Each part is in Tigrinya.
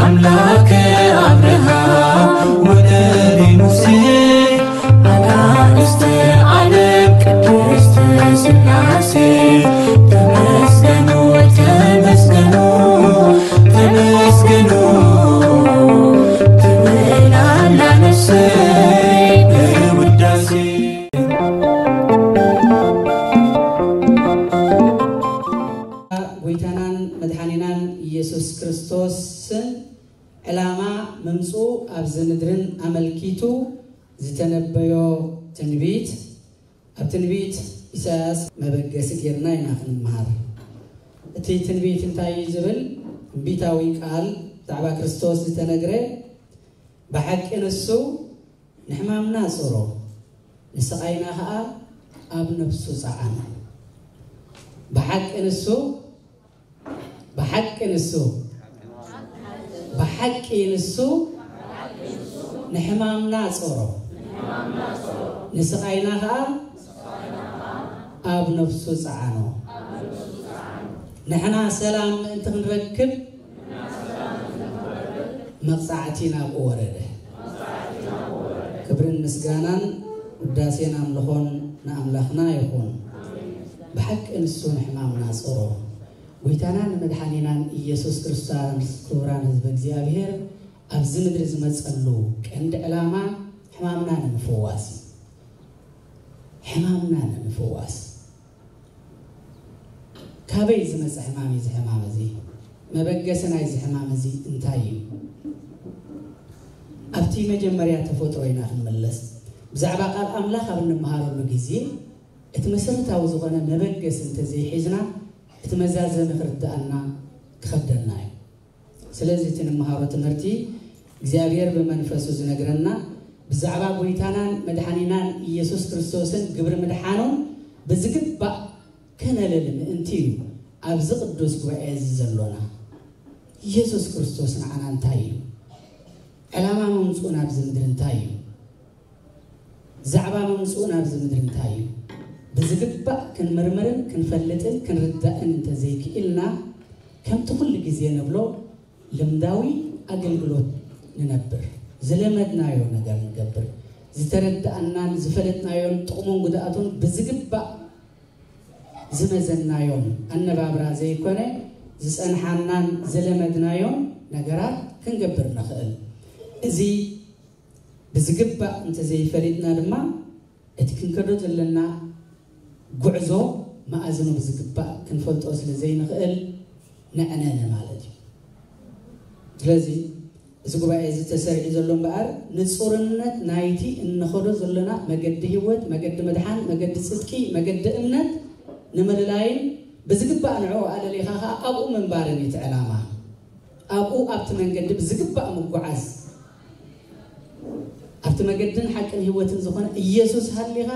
ኣምላከ ኣብርሃም ወደቤ ሙሴ ኣናእስተ ዓለም ቅድስት ስላሴ ተመስገኑ ተመስገኑ ተመስገኑ ትብል ኣላ ነፍሰይ ብውዳሴ። ጎይታናን መድሓኒናን ኢየሱስ ክርስቶስ ስም ዕላማ ምምፅኡ ኣብዚ ምድርን ኣመልኪቱ ዝተነበዮ ትንቢት ኣብ ትንቢት ኢሳያስ መበገሲ ጌርና ኢና ክንምሃር። እቲ ትንቢት እንታይ እዩ ዝብል? ትንቢታዊ ቃል ብዛዕባ ክርስቶስ ዝተነግረ ብሓቂ ንሱ ንሕማምና ኣጽሮ፣ ንስቓይና ኸኣ ኣብ ነፍሱ ጸዓኖ። ብሓቂ ንሱ፣ ብሓቂ ንሱ፣ ብሓቂ ንሱ ንሕማምና ኣጽሮ፣ ንስቓይና ኸኣ ኣብ ነፍሱ ጸዓኖ። ንሕና ሰላም ምእንቲ ክንረክብ መቕጻዕቲ ናብኡ ወረደ። ክብርን ምስጋናን ውዳሴን ኣምልኾን ንኣምላኽና ይኹን። ብሓቂ ንሱ ንሕማምና ጸሮ። ጎይታናን መድሓኒናን ኢየሱስ ክርስቶስ፣ ክቡራን ህዝበ እግዚኣብሔር፣ ኣብዚ ምድሪ ዝመጸሉ ቀንዲ ዕላማ ሕማምና ንምፍዋስ እዩ። ሕማምና ንምፍዋስ። ካበይ ዝመጸ ሕማም እዩ እዚ ሕማም እዚ? መበገሲ ናይዚ ሕማም እዚ እንታይ እዩ? ኣብቲ መጀመርያ ተፈጥሮ ኢና ክንምለስ። ብዛዕባ ቃል ኣምላኽ ኣብ እንመሃረሉ ግዜ፣ እቲ መሰረታዊ ዝኾነ መበገሲ እንተዘይሒዝና፣ እቲ መዛዘሚ ክርድኣና ክኸብደና እዩ። ስለዚ እቲ ንመሃሮ ትምህርቲ እግዚኣብሔር ብመንፈሱ ዝነግረና ብዛዕባ ጎይታናን መድሓኒናን ኢየሱስ ክርስቶስን ግብሪ ምድሓኑን ብዝግባእ ከነልል ምእንቲ እዩ ኣብዚ ቅዱስ ጉባኤ እዚ ዘሎና። ኢየሱስ ክርስቶስ ንዓና እንታይ እዩ? ዕላማ ምምፅኡ ናብዚ ምድሪ እንታይ እዩ? ዛዕባ ምምፅኡ ናብዚ ምድሪ እንታይ እዩ? ብዝግባእ ክንምርምርን ክንፈልጥን ክንርዳእን እንተዘይክኢልና፣ ከምቲ ኩሉ ግዜ ንብሎ ልምዳዊ ኣገልግሎት ንነብር። ዝለመድናዮ ነገር ንገብር። ዝተረዳእናን ዝፈለጥናዮን ጥቕሙን ጉድኣቱን ብዝግባእ ዝመዘናዮን ኣነባብራ ዘይኮነ፣ ዝጸንሓናን ዝለመድናዮን ነገራት ክንገብር ንኽእል። እዚ ብዝግባእ እንተዘይፈሊጥና ድማ፣ እቲ ክንከዶ ዘለና ጉዕዞ መኣዝኑ ብዝግባእ ክንፈልጦ ስለ ዘይንኽእል፣ ነዕነነ ማለት እዩ። ስለዚ፣ እዚ ጉባኤ እዚ ተሰሪዑ ዘሎ እምበኣር፣ ንጹርነት ናይቲ እንኸዶ ዘለና መገዲ ህይወት፣ መገዲ ምድሓን፣ መገዲ ጽድቂ፣ መገዲ እምነት ንምልላይን ብዝግባእ ንዕኡ ኣለሊኻ ኸኣ ኣብኡ ምንባርን እዩ እቲ ዕላማ። ኣብኡ ኣብቲ መንገዲ ብዝግባእ ምጉዓዝ። ኣብቲ መገድን ሓቅን ህይወትን ዝኾነ ኢየሱስ ሃሊኻ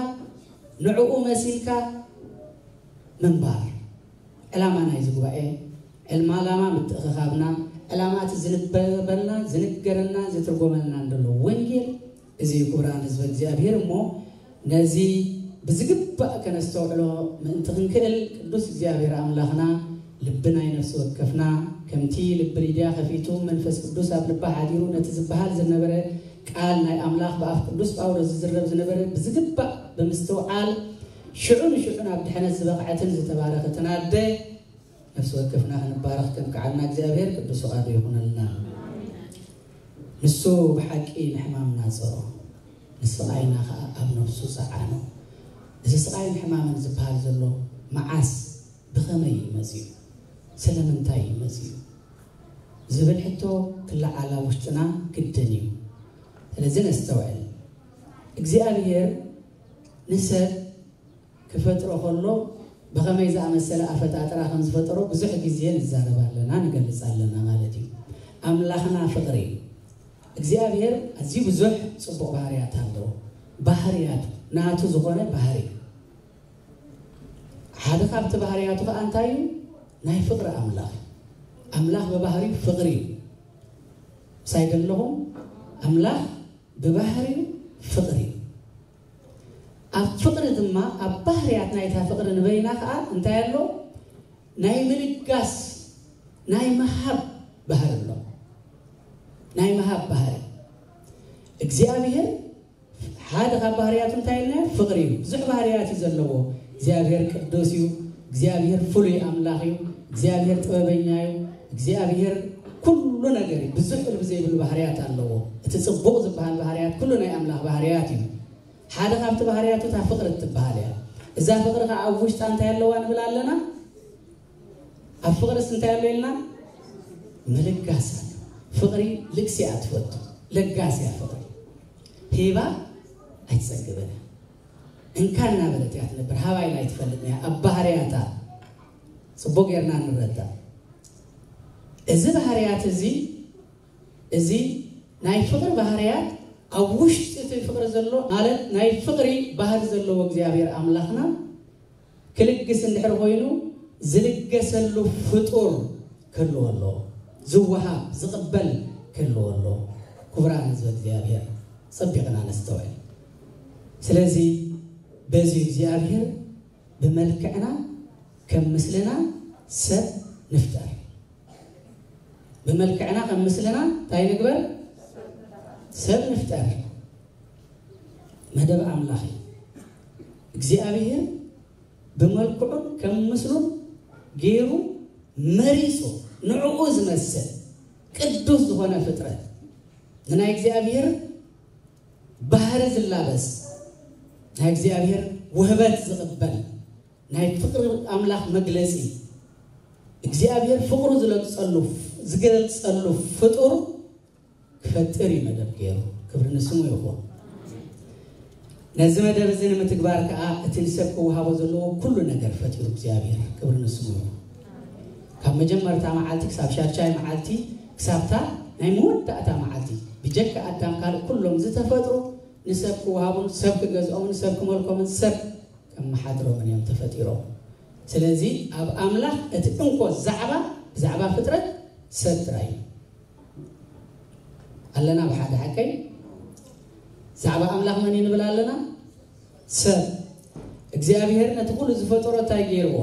ንዕኡ መሲልካ ምንባር። ዕላማ ናይዚ ጉባኤ፣ ዕልማ ዓላማ ምትእኽኻብና፣ ዕላማ እቲ ዝንበበልና፣ ዝንገረና፣ ዝትርጎመልና እንደሎ ወንጌል እዚ እዩ። ክቡራን ህዝበ እግዚኣብሔር፣ እሞ ነዚ ብዝግባእ ከነስተውዕሎ ምእንቲ ክንክእል ቅዱስ እግዚኣብሔር ኣምላኽና ልቢ ናይ ነፍሲ ወከፍና ከምቲ ልቢ ሊድያ ከፊቱ መንፈስ ቅዱስ ኣብ ልባ ሓዲሩ ነቲ ዝበሃል ዝነበረ ቃል ናይ ኣምላኽ ብኣፍ ቅዱስ ጳውሎስ ዝዝረብ ዝነበረ ብዝግባእ ብምስትውዓል ሽዑ ንሽዑ ናብ ድሕነት ዝበቕዐትን ዝተባረኸትን ኣደ ነፍሲ ወከፍና ክንባረኽ ከብቅዓና እግዚኣብሔር ቅዱስ ፍቓዱ ይኹነልና። ንሱ ብሓቂ ንሕማምና ጸሮ፣ ንስቓይና ኸኣ ኣብ ነፍሱ ጸዓኖ። እዚ ስቓይን ሕማምን ዝበሃል ዘሎ መዓስ፣ ብኸመይ እዩ መጺኡ፣ ስለምንታይ እዩ መጺኡ ዝብል ሕቶ ክለዓል ኣብ ውሽጥና ግድን እዩ። ስለዚ ነስተውዕል። እግዚኣብሔር ንሰብ ክፈጥሮ ከሎ ብኸመይ ዝኣመሰለ ኣፈጣጥራ ከም ዝፈጠሮ ብዙሕ ግዜ ንዛረብ ኣለና፣ ንገልጽ ኣለና ማለት እዩ። ኣምላኽና ፍቕሪ እዩ። እግዚኣብሔር ኣዝዩ ብዙሕ ጽቡቕ ባህርያት ኣለዎ። ባህርያቱ፣ ናቱ ዝኾነ ባህሪ። ሓደ ካብቲ ባህርያቱ ኸኣ እንታይ እዩ? ናይ ፍቕሪ ኣምላኽ እዩ። ኣምላኽ ብባህሪኡ ፍቕሪ እዩ። ምሳይ ዶ ኣለኹም? ኣምላኽ ብባህሪኡ ፍቕሪ እዩ። ኣብ ፍቕሪ ድማ፣ ኣብ ባህርያት ናይታ ፍቕሪ ንበይና ኸኣ እንታይ ኣሎ? ናይ ምልጋስ፣ ናይ ምሃብ ባህሪ ኣሎ። ካብ ባህሪ እግዚኣብሔር ሓደ ካብ ባህርያቱ እንታይ ኢልና? ፍቕሪ እዩ። ብዙሕ ባህርያት እዩ ዘለዎ። እግዚኣብሔር ቅዱስ እዩ። እግዚኣብሔር ፍሉይ ኣምላኽ እዩ። እግዚኣብሔር ጥበበኛ እዩ። እግዚኣብሔር ኩሉ ነገር እዩ። ብዙሕ እልቢ ዘይብሉ ባህርያት ኣለዎ። እቲ ጽቡቕ ዝበሃል ባህርያት ኩሉ ናይ ኣምላኽ ባህርያት እዩ። ሓደ ካብቲ ባህርያቱ እታ ፍቕሪ እትበሃል እያ። እዛ ፍቕሪ ከዓ ኣብ ውሽጣ እንታይ ኣለዋ ንብል ኣለና? ኣብ ፍቕርስ እንታይ ኣሎ ኢልና? ምልጋስ ኣሎ። ፍቕሪ ልግሲ እያ ትፈቱ። ለጋስ እያ ፍቕሪ። ሂባ ኣይትጸግብን እያ። እንካ እናበለት እያ ትነብር። ሃባ ኢላ ኣይትፈልጥን እያ። ኣብ ባህርያታ ጽቡቕ ጌርና ንረዳእ። እዚ ባህርያት እዚ፣ እዚ ናይ ፍቕሪ ባህርያት ኣብ ውሽጢ እቲ ፍቕሪ ዘሎ፣ ማለት ናይ ፍቕሪ ባህሪ ዘለዎ እግዚኣብሔር ኣምላኽና ክልግስ እንድሕር ኮይኑ፣ ዝልገሰሉ ፍጡር ክህልዎ ኣለዎ። ዝወሃብ፣ ዝቕበል ክህልዎ ኣለዎ። ክቡራን ህዝበ እግዚኣብሔር፣ ጸቢቕና ነስተውዕል። ስለዚ በዚ እግዚኣብሔር ብመልክዕና ከም ምስልና ሰብ ንፍጠር። ብመልክዕና ከም ምስልና እንታይ ንግበር? ሰብ ንፍጠር። መደብ ኣምላኽ እዩ። እግዚኣብሔር ብመልክዑን ከም ምስሉን ገይሩ መሪጹ፣ ንዕኡ ዝመስል ቅዱስ ዝኾነ ፍጥረት፣ ንናይ እግዚኣብሔር ባህሪ ዝላበስ፣ ናይ እግዚኣብሔር ውህበት ዝቕበል፣ ናይ ፍቕሪ ኣምላኽ መግለጺ፣ እግዚኣብሔር ፍቕሩ ዝለግጸሉ፣ ዝገልጸሉ ፍጡር ክፈጥር እዩ መደብ ገይሩ። ክብሪ ንስሙ ይኹን። ነዚ መደብ እዚ ንምትግባር ከኣ እቲ ንሰብ ክወሃቦ ዘለዎ ኩሉ ነገር ፈጢሩ እግዚኣብሔር። ክብሪ ንስሙ ይኹን። ካብ መጀመርታ መዓልቲ ክሳብ ሻድሻይ መዓልቲ፣ ክሳብታ ናይ መወዳእታ መዓልቲ፣ ብጀካ ኣዳም ካልእ ኩሎም ዝተፈጥሩ ንሰብ ክወሃቡን ሰብ ክገዝኦምን ሰብ ክመልኮምን ሰብ ከመሓድሮምን እዮም ተፈጢሮም። ስለዚ ኣብ ኣምላኽ እቲ እንኮ ዛዕባ፣ ብዛዕባ ፍጥረት ሰብ ጥራይ እዩ። ኣለና ብሓደ ሓቀይ? ዛዕባ ኣምላኽ መን እዩ ንብል ኣለና? ሰብ። እግዚኣብሔር ነቲ ኩሉ ዝፈጠሮ እንታይ ገይርዎ?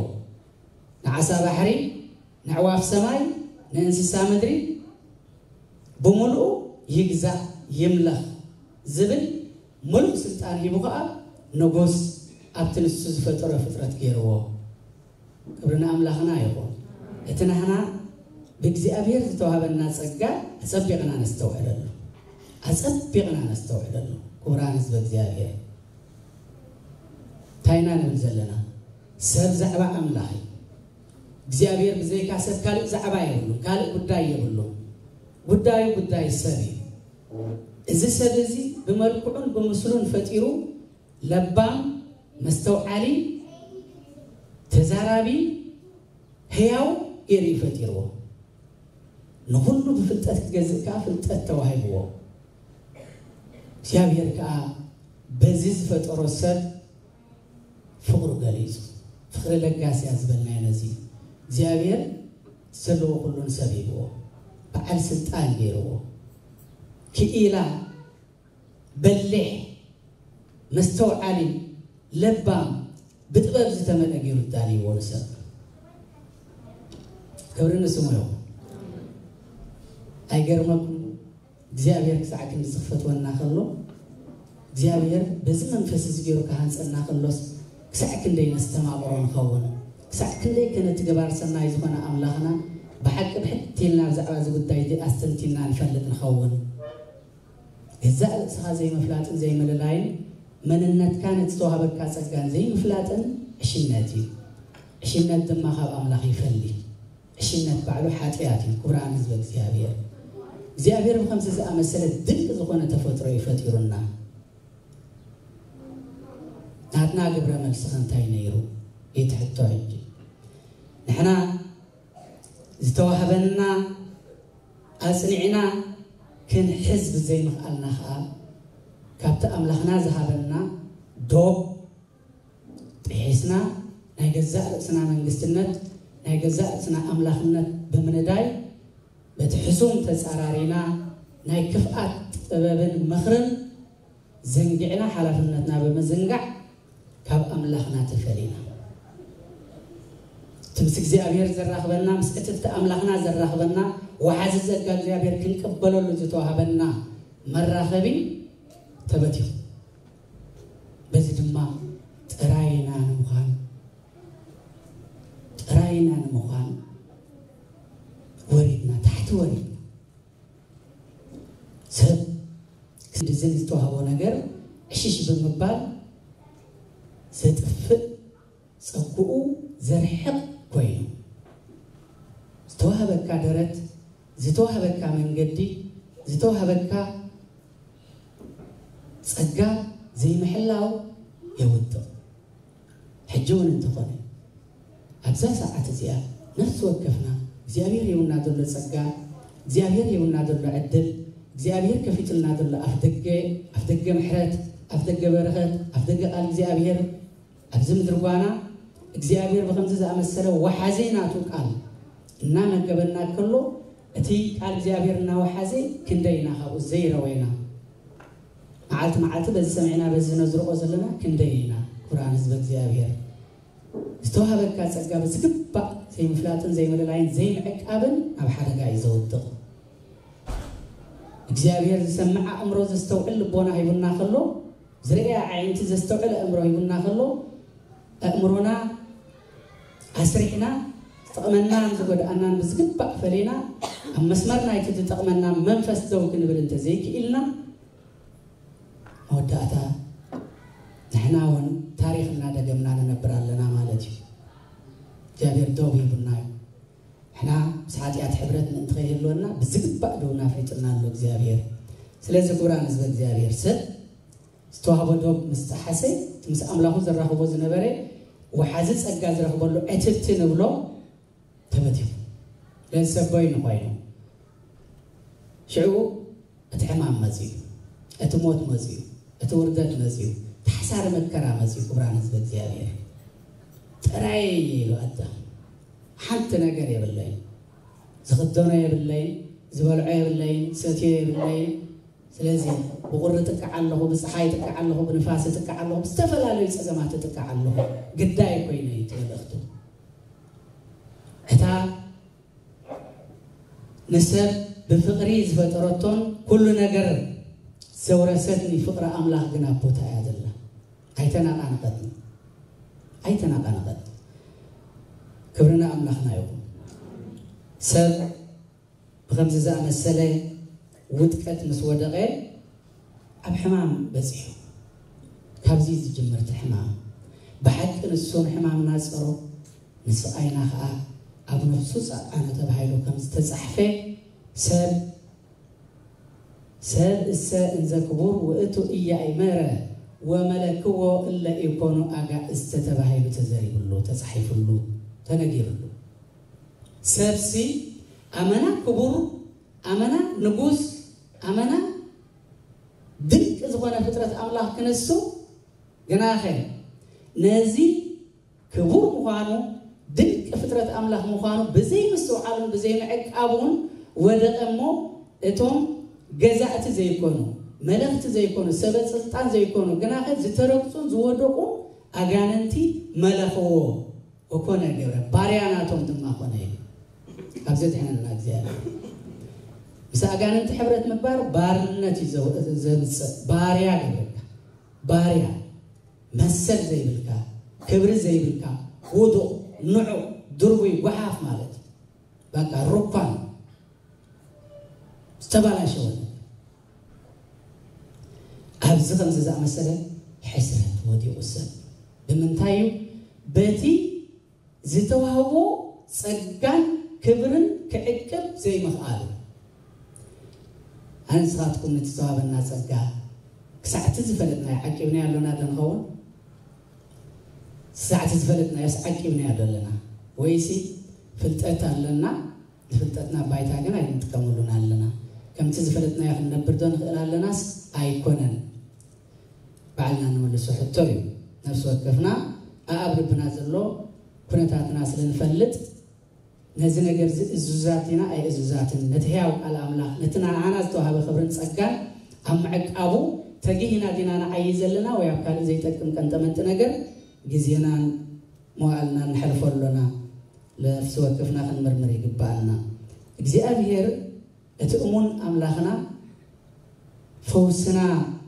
ንዓሳ ባሕሪ፣ ንዕዋፍ ሰማይ፣ ንእንስሳ ምድሪ ብምሉኡ ይግዛእ ይምለኽ ዝብል ምሉእ ስልጣን ሂቡ ኸኣ ንጉስ ኣብቲ ንሱ ዝፈጠሮ ፍጥረት ገይርዎ። ክብሪ ንኣምላኽና ይኹን። እቲ ናህና ብእግዚኣብሔር ዝተዋህበና ጸጋ ኣጸቢቕና ነስተውዕለሉ። ኣጸቢቕና ነስተውዕለሉ። ክቡራን ህዝበ እግዚኣብሔር። እንታይ ኢና ንብል ዘለና? ሰብ ዛዕባ ኣምላኽ እዩ። እግዚኣብሔር ብዘይካ ሰብ ካልእ ዛዕባ የብሉን፣ ካልእ ጉዳይ የብሉን። ጉዳዩ ጉዳይ ሰብ እዩ። እዚ ሰብ እዚ ብመልክዑን ብምስሉን ፈጢሩ ለባም፣ መስተውዓሊ፣ ተዛራቢ፣ ህያው ገይሩ እዩ ፈጢርዎ። ንኹሉ ብፍልጠት ክገዝእ ከኣ ፍልጠት ተዋሂብዎ። እግዚኣብሔር ከኣ በዚ ዝፈጠሮ ሰብ ፍቕሩ ገሊጹ። ፍቕሪ ለጋስ እያ ዝበልናዮ ነዚ እዩ። እግዚኣብሔር ዘለዎ ኩሉ ንሰብ ሂብዎ። በዓል ስልጣን ገይርዎ። ክኢላ፣ በሊሕ፣ መስተውዓሊ፣ ለባም፣ ብጥበብ ዝተመልአ ገይሩ ኣዳልይዎ ንሰብ። ክብሪ ንስሙ ይኹን። ኣይገርመኩም? እግዚኣብሔር ክሳዕ ክንዲ ዝኽፈትወና ከሎ፣ እግዚኣብሔር በዚ መንፈስ እዚ ገይሩ ክሃንጸና ከሎስ፣ ክሳዕ ክንደይ ነስተማቕሮ ንኸውን? ክሳዕ ክንደይ ከ ነቲ ገባር ሰናይ ዝኾነ ኣምላኽና ብሓቂ ብሕቲ ኢልና ብዛዕባ እዚ ጉዳይ እዚ ኣስተንቲና ንፈልጥ ንኸውን? ገዛእ ርእስኻ ዘይምፍላጥን ዘይምልላይን፣ መንነትካ ነቲ ዝተዋህበካ ጸጋን ዘይምፍላጥን ዕሽነት እዩ። ዕሽነት ድማ ካብ ኣምላኽ ይፈሊ። ዕሽነት ባዕሉ ሓጢኣት እዩ። ክቡራን ህዝበ እግዚኣብሔር፣ እግዚኣብሔር ብኸምዚ ዝኣመሰለ ድንቂ ዝኾነ ተፈጥሮ እዩ ፈጢሩና። ናትና ግብረ መልሲ ከ እንታይ ነይሩ? ይትሕቶ ሕጂ። ንሕና ዝተዋህበና ኣጽኒዕና ክንሕዝ ብዘይምኽኣልና ኸኣ፣ ካብቲ ኣምላኽና ዝሃበና ዶብ ጥሒስና፣ ናይ ገዛእ ርእስና መንግስትነት፣ ናይ ገዛእ ርእስና ኣምላኽነት ብምንዳይ፣ በቲ ሕሱም ተጻራሪና፣ ናይ ክፍኣት ጥበብን ምኽርን ዘንጊዕና፣ ሓላፍነትና ብምዝንጋዕ ካብ ኣምላኽና ተፈሊና። እቲ ምስ እግዚኣብሔር ዘራኽበና፣ ምስ ዕትብቲ ኣምላኽና ዘራኽበና፣ ወሓዚ ጸጋ እግዚኣብሔር ክንቅበለሉ ዝተዋህበና መራኸቢ ተበቲኹ። በዚ ድማ ጥራይና ንምዃን፣ ጥራይና ንምዃን ወሪድና፣ ታሕቲ ወሪድና። ሰብ ክንድዝን ዝተዋህቦ ነገር ዕሽሽ ብምባል ዘጥፍእ፣ ጸግኡ ዘርሕቕ ኮይኑ፣ ዝተዋህበካ ደረት፣ ዝተዋህበካ መንገዲ፣ ዝተዋህበካ ጸጋ ዘይምሕላው የውድቕ። ሕጂ እውን እንተኾነ፣ ኣብዛ ሰዓት እዚኣ ነፍሲ ወከፍና እግዚኣብሔር ሂቡና ዘሎ ጸጋ፣ እግዚኣብሔር ሂቡና ዘሎ ዕድል፣ እግዚኣብሔር ከፊቱልና ዘሎ ኣፍ ደገ፣ ኣፍ ደገ ምሕረት፣ ኣፍ ደገ በረኸት፣ ኣፍ ደገ ቃል እግዚኣብሔር፣ ኣብዚ ምድሪ ጓና እግዚኣብሔር ብኸምዚ ዝኣመሰለ ወሓዚ ናቱ ቃል እናመገበና ከሎ፣ እቲ ቃል እግዚኣብሔር እናወሓዘ ክንደይ ኢና ካብኡ ዘይረወይና? መዓልቲ መዓልቲ በዚ ሰሚዕና በዚ ነዝርቆ ዘለና ክንደይ ኢና? ክቡራን ህዝበ እግዚኣብሔር፣ ዝተዋህበካ ጸጋ ብዝግባእ ዘይምፍላጥን ዘይምልላይን ዘይምዕቃብን ኣብ ሓደጋ እዩ ዘውድቕ። እግዚኣብሔር ዝሰምዕ ኣእምሮ፣ ዘስተውዕል ልቦና ሂቡና ከሎ፣ ዝርእያ ኣዒንቲ፣ ዘስተውዕል ኣእምሮ ሂቡና ከሎ፣ ኣእምሮና ኣስሪሕና ዝጠቕመናን ዝጎድኣናን ብዝግባእ ፈሊና ኣብ መስመር ናይቲ ዝጠቕመና መንፈስ ደው ክንብል እንተዘይክኢልና፣ መወዳእታ ንሕና እውን ታሪኽ እናደገምና ንነብር ኣለና ማለት እዩ። እግዚኣብሔር ደው ሂቡና እዩ። ንሕና ምስ ሓጢኣት ሕብረት ምእንቲ ከይህልወና ብዝግባእ ደው እናፍሊጡና ኣሎ እግዚኣብሔር። ስለዚ ክቡራን ህዝበ እግዚኣብሔር፣ ሰብ ዝተዋህቦ ዶብ ምስ ጠሓሰ፣ እቲ ምስ ኣምላኹ ዘራኽቦ ዝነበረ ወሓዚ ጸጋ ዝረኽበሉ ዕትብቲ ንብሎ ተበቲኹ። ስለዚ ሰብ በይኑ ኮይኑ፣ ሽዑ እቲ ሕማም መጺኡ፣ እቲ ሞት መጺኡ፣ እቲ ውርደት መጺኡ፣ እቲ ሓሳሪ መከራ መጺኡ። ክቡራን ህዝቢ እግዚኣብሔር፣ ጥራይ ኢሉ ኣዳም፣ ሓንቲ ነገር የብለይን፣ ዝኽደኖ የብለይን፣ ዝበልዖ የብለይን፣ ዝሰትዮ የብለይን። ስለዚ ብቁሪ እጥቃዕ ኣለኹ፣ ብፀሓይ እጥቃዕ ኣለኹ፣ ብንፋስ እጥቃዕ ኣለኹ፣ ብዝተፈላለዩ ፀገማት እጥቃዕ ኣለኹ፣ ግዳይ ኮይነ እዩ እቲ መልእኽቱ። እታ ንሰብ ብፍቕሪ ዝፈጠረቶን ኩሉ ነገር ዘውረሰትኒ ፍቕሪ ኣምላኽ ግን ኣብ ቦታ እያ ዘላ። ኣይተናቓነቐትኒ፣ ኣይተናቓነቐትኒ። ክብሪ ንኣምላኽና ይኹን። ሰብ ብኸምዚ ዝኣመሰለ ውድቀት ምስ ወደቐ ኣብ ሕማም በጺሑ። ካብዚ ዝጅምር እቲ ሕማም። ብሓቂ ንሱ ንሕማምና ጸሮ፣ ንስቓይና ኸኣ ኣብ ነፍሱ ጸዓኖ ተባሂሉ ከም ዝተጻሕፈ፣ ሰብ፣ ሰብ እሰ እንዘ ክቡር ውእቱ ኢያእመረ ወመለክዎ እለ ኢኮኑ ኣጋእዝተ ተባሂሉ ተዘሪብሉ፣ ተጻሒፍሉ፣ ተነጊርሉ። ሰብሲ ኣመና ክቡር፣ ኣመና ንጉስ፣ ኣመና ድንቂ ዝኾነ ፍጥረት ኣምላኽ ክንሱ፣ ግናኸ ነዚ ክቡር ምዃኑ፣ ድንቂ ፍጥረት ኣምላኽ ምዃኑ ብዘይምስትውዓሉን ብዘይምዕቃቡን ወደቐ እሞ፣ እቶም ገዛእቲ ዘይኮኑ፣ መለኽቲ ዘይኮኑ፣ ሰበ ስልጣን ዘይኮኑ፣ ግናኸ ዝተረግጹን ዝወደቑ ኣጋንንቲ መለኽዎ። ወኮነ ገብረ፣ ባርያ ናቶም ድማ ኮነ ኢሉ። ካብ ዘድሕነና እግዚኣብሔር። ምስ ኣጋንንቲ ሕብረት ምግባር ባርነት እዩ ዘው-፣ ዘምጽእ። ባርያ ገብረካ። ባርያ። መሰል ዘይብልካ፣ ክብሪ ዘይብልካ፣ ውዱቕ፣ ንዑቕ፣ ድርቡይ፣ ጓሓፍ ማለት እዩ። በቃ ሩኳን። ዝተባላሸወ ነገር። ኣብዚ ከምዚ ዝኣመሰለ ሕስረት ወዲቑ ሰብ። ብምንታይ እዩ? በቲ ዝተዋህቦ ጸጋን ክብርን ክዕቅብ ዘይምኽኣሉ። ኣነ ንስኻትኩም ነቲ ዝተዋህበና ጸጋ ክሳዕ እቲ ዝፈለጥናዮ ዓቂብናዮ ኣሎና ዶ ንኸውን? ክሳዕ እቲ ዝፈለጥናዮስ ዓቂብናዮ ዶ ኣለና? ወይሲ ፍልጠት ኣለና፣ ንፍልጠትና ባይታ ግን ኣይንጥቀመሉን ኣለና? ከምቲ ዝፈለጥናዮ ክንነብር ዶ ንኽእል ኣለናስ ኣይኮነን? ባዕልና ንመልሶ ሕቶ እዩ። ነፍሲ ወከፍና ኣኣብ ልብና ዘሎ ኩነታትና ስለ ንፈልጥ፣ ነዚ ነገር እዚ እዙዛት ዲና ኣይእዙዛትን፣ ነቲ ህያው ቃል ኣምላኽ፣ ነቲ ንዓና ዝተዋህበ ክብርን ጸጋን ኣብ ምዕቃቡ ተጊሂና ዲና ንዓዪ ዘለና፣ ወይ ኣብ ካልእ ዘይጠቅም ቀንጠመንጢ ነገር ግዜናን መዋእልናን ነሕልፎ ኣሎና? ነፍሲ ወከፍና ክንምርምር ይግብኣና። እግዚኣብሔር እቲ እሙን ኣምላኽና ፈውስና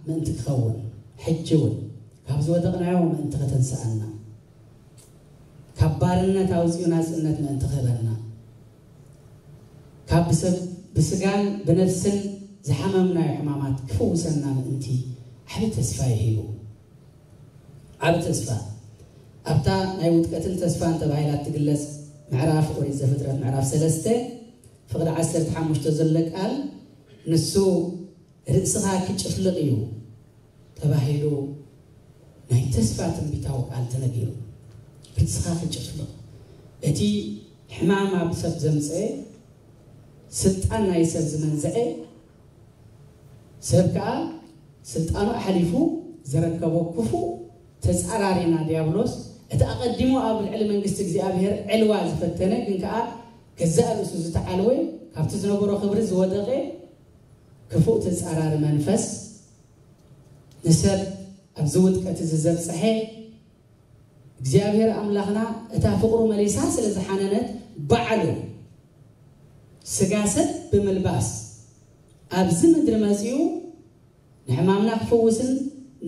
ምእንቲ ክኸውን፣ ሕጂ እውን ካብ ዝወደቕናዮ ምእንቲ ከተንስኣና፣ ካብ ባርነት ኣውፂኡ ናፅነት ምእንቲ ክህበና፣ ካብ ብሰብ ብስጋን ብነፍስን ዝሓመምናዮ ሕማማት ክፍውሰና ምእንቲ ዓቢ ተስፋ ይሂቡ። ዓቢ ተስፋ ኣብታ ናይ ውድቀትን ተስፋን ተባሂላ እትግለጽ ምዕራፍ ኦሪት ዘፍጥረት ምዕራፍ ሰለስተ ፍቕዲ ዓሰርተ ሓሙሽተ ዘሎ ቃል፣ ንሱ ርእስኻ ክጭፍልቕ እዩ ተባሂሉ ናይ ተስፋ ትንቢታዊ ቃል ተነጊሩ። ርእስኻ ክጭፍልቕ፣ እቲ ሕማም ኣብ ሰብ ዘምጽአ፣ ስልጣን ናይ ሰብ ዝመንዝዐ፣ ሰብ ከኣ ስልጣኑ ኣሕሊፉ ዝረከቦ ክፉእ ተጻራሪና ዲያብሎስ፣ እቲ ኣቐዲሙ ኣብ ልዕሊ መንግስቲ እግዚኣብሔር ዕልዋ ዝፈተነ፣ ግን ከኣ ገዛእ ርእሱ ዝተዓልወ፣ ካብቲ ዝነበሮ ክብሪ ዝወደቐ ክፉእ ተጻራሪ መንፈስ፣ ንሰብ ኣብዚ ውድቀት እዚ ዘብጽሐ፣ እግዚኣብሔር ኣምላኽና እታ ፍቕሩ መሊሳ ስለ ዝሓነነት፣ ባዕሉ ስጋ ሰብ ብምልባስ ኣብዚ ምድሪ መጺኡ ንሕማምና ክፍውስን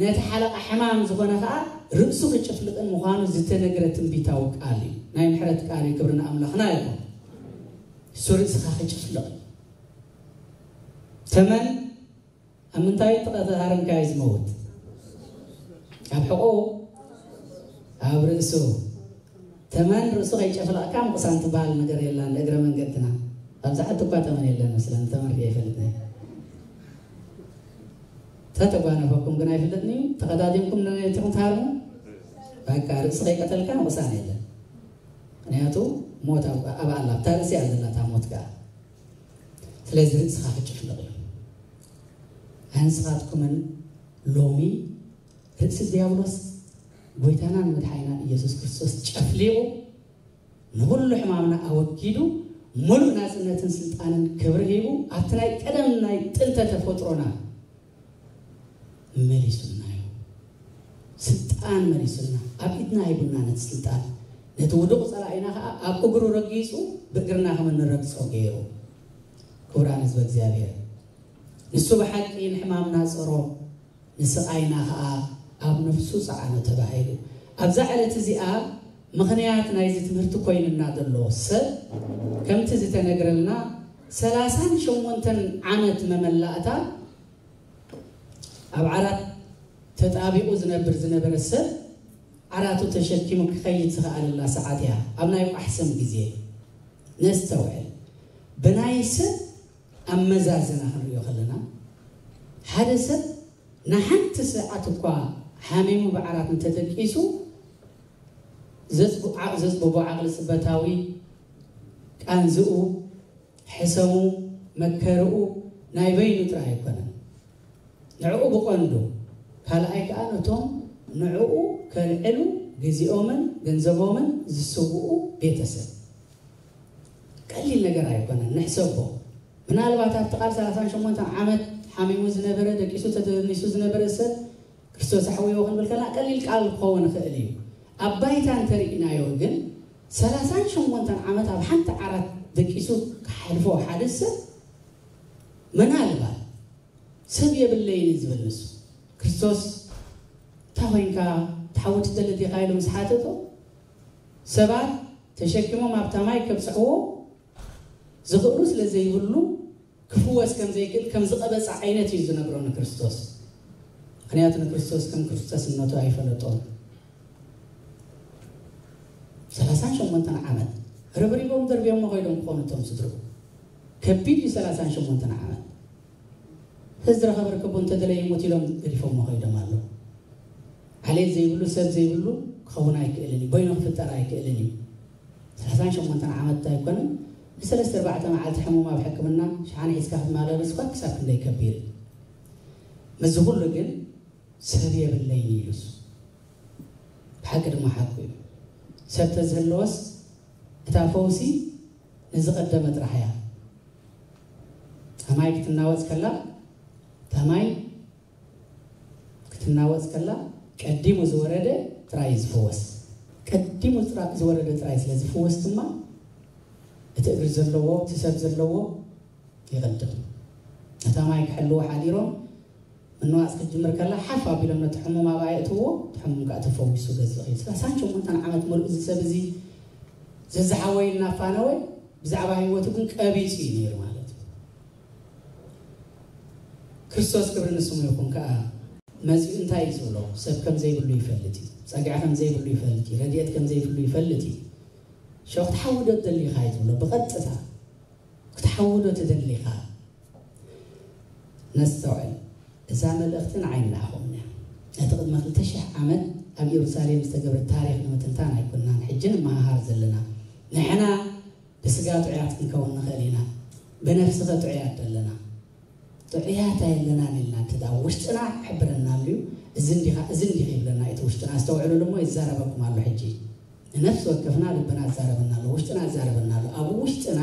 ነቲ ሓለቓ ሕማም ዝኾነ ኸኣ ርእሱ ክጭፍልቕን ምዃኑ ዝተነግረ ትንቢታዊ ቃል እዩ። ናይ ምሕረት ቃል እዩ። ክብሪ ንኣምላኽና ይኹን። እሱ ርእስኻ ክጭፍልቕ። ተመን ኣብ ምንታይ ተቐ-፣ ተሃረምካዮ ዝመውት? ኣብ ሕቖ? ኣብ ርእሱ። ተመን ርእሱ ከይጨፍለቕካ ምቕሳን ትበሃል ነገር የላን። እግረ መንገድና ኣብዛ ዓዲ እኳ ተመን የለን መስለን፣ ተመን ርእየ ኣይፈልጥን። ተተጓነፈኩም ግን ኣይፍለጥን እዩ። ተቐዳዲምኩም ነቲ ትሃርሙ። በቃ ርእሲ ከይቀተልካ ምቕሳን የለን። ምኽንያቱ ሞት ኣብ፣ ኣብ ኣላ፣ ኣብታ ርእሲ እያ ዘላ እታ ሞት ከኣ። ስለዚ ርእስኻ ክጭፍለቕ እዩ። ኣንስኻትኩምን ሎሚ ርእሲ ዲያብሎስ ጎይታናን መድሓኒናን ኢየሱስ ክርስቶስ ጨፍሊቑ፣ ንኹሉ ሕማምና ኣወጊዱ፣ ሙሉእ ናጽነትን ስልጣንን ክብሪ ሂቡ፣ ኣብቲ ናይ ቀደም ናይ ጥንተ ተፈጥሮና መሊሱና እዩ። ስልጣን መሊሱና፣ ኣብ ኢድና ሂቡና ነቲ ስልጣን። ነቲ ውዱቕ ጸላኢና ከኣ ኣብ እግሩ ረጊጹ፣ ብእግርና ከም እንረግጾ ገይሩ። ክቡራን ህዝበ እግዚኣብሔር፣ ንሱ ብሓቂ ንሕማምና ጸሮ፣ ንስቓይና ከኣ ኣብ ነፍሱ ጸዓኖ ተባሂሉ። ኣብዛ ዕለት እዚኣ ምኽንያት ናይዚ ትምህርቲ ኮይኑና ዘሎ ሰብ፣ ከምቲ ዝተነግረልና፣ ሰላሳን ሸሞንተን ዓመት መመላእታ ኣብ ዓራት ተጣቢቑ ዝነብር ዝነበረ ሰብ፣ ዓራቱ ተሸኪሙ ክኸይድ ዝኸኣለላ ሰዓት እያ፣ ኣብ ናይ ቋሕ ሰም ግዜ። ነስተውዕል። ብናይ ሰብ ኣመዛዝና ክንሪኦ ከለና፣ ሓደ ሰብ ንሓንቲ ሰዓት እኳ ሓሚሙ ብዓራት እንተደቂሱ፣ ዘጽቡ-፣ ዓ-፣ ዘጽብቦ ዓቕሊ ጽበታዊ ቃንዝኡ፣ ሕሰሙ፣ መከርኡ ናይ በይኑ ጥራይ ኣይኮነን። ንዕኡ ብቐንዱ፣ ካልኣይ ከኣ ነቶም ንዕኡ ከልዕሉ ግዜኦምን ገንዘቦምን ዝስውኡ ቤተሰብ። ቀሊል ነገር ኣይኮነን፣ ንሕሰቦ። ምናልባት ኣብቲ ቃል ሰላሳን ሸሞንተን ዓመት ሓሚሙ ዝነበረ፣ ደቂሱ ተደኒሱ ዝነበረ ሰብ ክርስቶስ ኣሕውዮ ክንብል ከለና ቀሊል ቃል ክኸውን ይኽእል እዩ። ኣብ ባይታ እንተርኢናዮ ግን፣ ሰላሳን ሸሞንተን ዓመት ኣብ ሓንቲ ዓራት ደቂሱ ክሓልፎ ሓደ ሰብ፣ ምናልባት ሰብ የብለይን እዩ ዝብል ንሱ። ክርስቶስ፣ "እንታይ ኮይንካ፣ ትሓዊ ትደሊ ዲኻ?" ኢሉ ምስ ሓተቶ፣ ሰባት ተሸኪሞም ኣብታ ማይ ከብጽሕዎ ዝኽእሉ ስለ ዘይብሉ፣ ክፍወስ ከም ዘይክእል ከም ዝቐበጸ ዓይነት እዩ ዝነግሮ ንክርስቶስ። ምኽንያቱ ንክርስቶስ ከም ክርስቶስነቱ ኣይፈለጦን። ሰላሳን ሸሞንተን ዓመት ረብሪቦም ደርብዮሞ ከይዶም ክኾኑ እቶም ስድርኡ። ከቢድ እዩ ሰላሳን ሸሞንተን ዓመት። ህዝቢ ረኸበ ርከቦ እንተደለየ ይሞት ኢሎም ገዲፎሞ ከይዶም ኣለዉ። ዓሌት ዘይብሉ፣ ሰብ ዘይብሉ ክኸውን ኣይክእልን እዩ። በይኑ ክፍጠር ኣይክእልን እዩ። ሰላሳን ሸሞንተን ዓመት ኣይኮነን፣ ንሰለስተ ኣርባዕተ መዓልቲ ሕሙም ኣብ ሕክምና ሸሓኒ ሒዝካ ክትመላለስ እኳ ክሳብ ክንደይ ከቢድ እዩ። ምስዚ ኩሉ ግን ሰብ የብለይን ኢሉ እሱ። ብሓቂ ድማ ሓቁ እዩ። ሰብ ተዝህልወስ እታ ፈውሲ ንዝቐደመ ጥራሕ እያ። እታ ማይ ክትናወጽ ከላ፣ እታ ማይ ክትናወጽ ከላ ቀዲሙ ዝወረደ ጥራይ እዩ ዝፍወስ። ቀዲሙ ጥራ-፣ ዝወረደ ጥራይ ስለ ዝፍወስ ድማ እቲ እግሪ ዘለዎ፣ እቲ ሰብ ዘለዎ ይቕድም። ነታ ማይ ክሕልዎ ሓዲሮም፣ ምንዋጽ ክትጅምር ከላ ሓፍ ኣቢሎም ነቲ ሕሙም ኣብኣ የእትዎ፣ እቲ ሕሙም ከኣ ተፈዊሱ ገዝእ ይኽእል። ሰላሳን ሸሞንተን ዓመት ሙሉእ እዚ ሰብ እዚ ዘዝሓወይ እናፋነወ ብዛዕባ ህይወቱ ግን ቀቢጹ እዩ ነይሩ ማለት እዩ። ክርስቶስ ክብሪ ንስሙ ይኹን ከኣ መጺኡ እንታይ እዩ ዝብሎ? ሰብ ከም ዘይብሉ ይፈልጥ እዩ። ጸግዒ ከም ዘይብሉ ይፈልጥ እዩ። ረድኤት ከም ዘይብሉ ይፈልጥ እዩ። ሸው ክትሓዊ ዶ ትደሊ ኢኻ እዩ ዝብሎ ብቐጥታ። ክትሓዊ ዶ ትደሊ ኢኻ? ነስተውዕል። እዛ መልእኽቲ ንዓይ ንዓኹም እያ። ነቲ ቅድሚ ክልተ ሽሕ ዓመት ኣብ ኢየሩሳሌም ዝተገብረ ታሪኽ ንምትንታን ኣይኮንናን ሕጂ ንመሃሃር ዘለና። ንሕና ብስጋ ጥዑያት ክንከውን ንኽእል ኢና። ብነፍሲ ኸ ጥዑያት ደለና? ጥዑያት ኣየለናን ኢልና እንተ ደኣ ውሽጥና ክሕብረና ኣልዩ፣ እዚ እንዲኻ፣ እዚ እንዲኺ ይብለና እቲ ውሽጥና። ኣስተውዕሉሉ እሞ ይዛረበኩም ኣሎ ሕጂ። ንነፍሲ ወከፍና ልብና ይዛረበና ኣሎ፣ ውሽጥና ይዛረበና ኣሎ። ኣብ ውሽጥና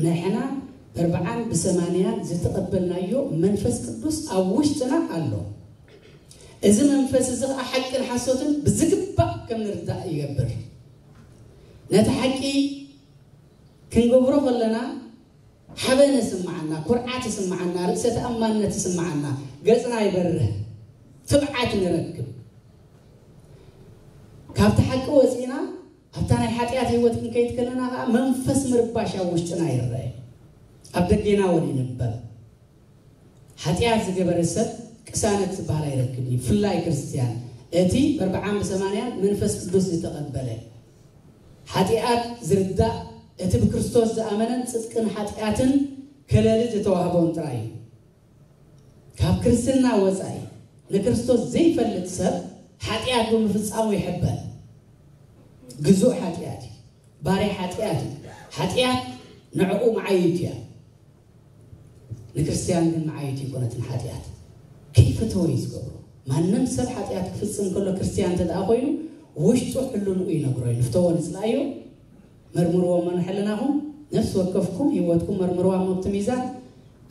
ንሕና ብኣርብዓን ብሰማንያን ዝተቐበልናዮ መንፈስ ቅዱስ ኣብ ውሽጥና ኣሎ። እዚ መንፈስ እዚ ኸኣ ሓቅን ሓሶትን ብዝግባእ ከም ንርዳእ ይገብር። ነቲ ሓቂ ክንገብሮ ከለና ሓበን ይስምዓና፣ ኩርዓት ይስምዓና፣ ርእሰ ተኣማንነት ይስምዓና፣ ገጽና ይበርህ፣ ትብዓት ንረክብ። ካብቲ ሓቂ ወጺና ኣብታ ናይ ሓጢኣት ህይወት ክንከይድ ከለና ኸኣ መንፈስ ምርባሽ ኣብ ውሽጥና ይረአ። ኣብ ደጌና እውን ይንበብ። ሓጢኣት ዝገበረ ሰብ ቅሳነት ዝበሃል ኣይረክብን እዩ። ብፍላይ ክርስትያን፣ እቲ ብኣርብዓን ብሰማንያን መንፈስ ቅዱስ ዝተቐበለ፣ ሓጢኣት ዝርዳእ እቲ ብክርስቶስ ዝኣመነን ጽድቅን ሓጢኣትን ከለሊ ዝተዋህቦን ጥራይ እዩ። ካብ ክርስትና ወጻኢ ንክርስቶስ ዘይፈልጥ ሰብ ሓጢኣት ብምፍጻሙ ይሕበን። ግዙእ ሓጢኣት እዩ። ባርያ ሓጢኣት እዩ። ሓጢኣት ንዕኡ መዓይይቱ እያ። ንክርስትያን ግን መዓይይቱ ይኮነትን ሓጢኣት። ከይፈተወ እዩ ዝገብሮ። ማንም ሰብ ሓጢኣት ክፍጽም ከሎ ክርስትያን እንተ ደኣ ኮይኑ ውሽጡ ሕልንኡ ይነግሮ እዩ። ንፍተዎ ንጽላእዮ፣ መርምርዎ እሞ ንሕልናኹም፣ ነፍሲ ወከፍኩም ህይወትኩም መርምርዋ እሞ ኣብቲ ሚዛን፣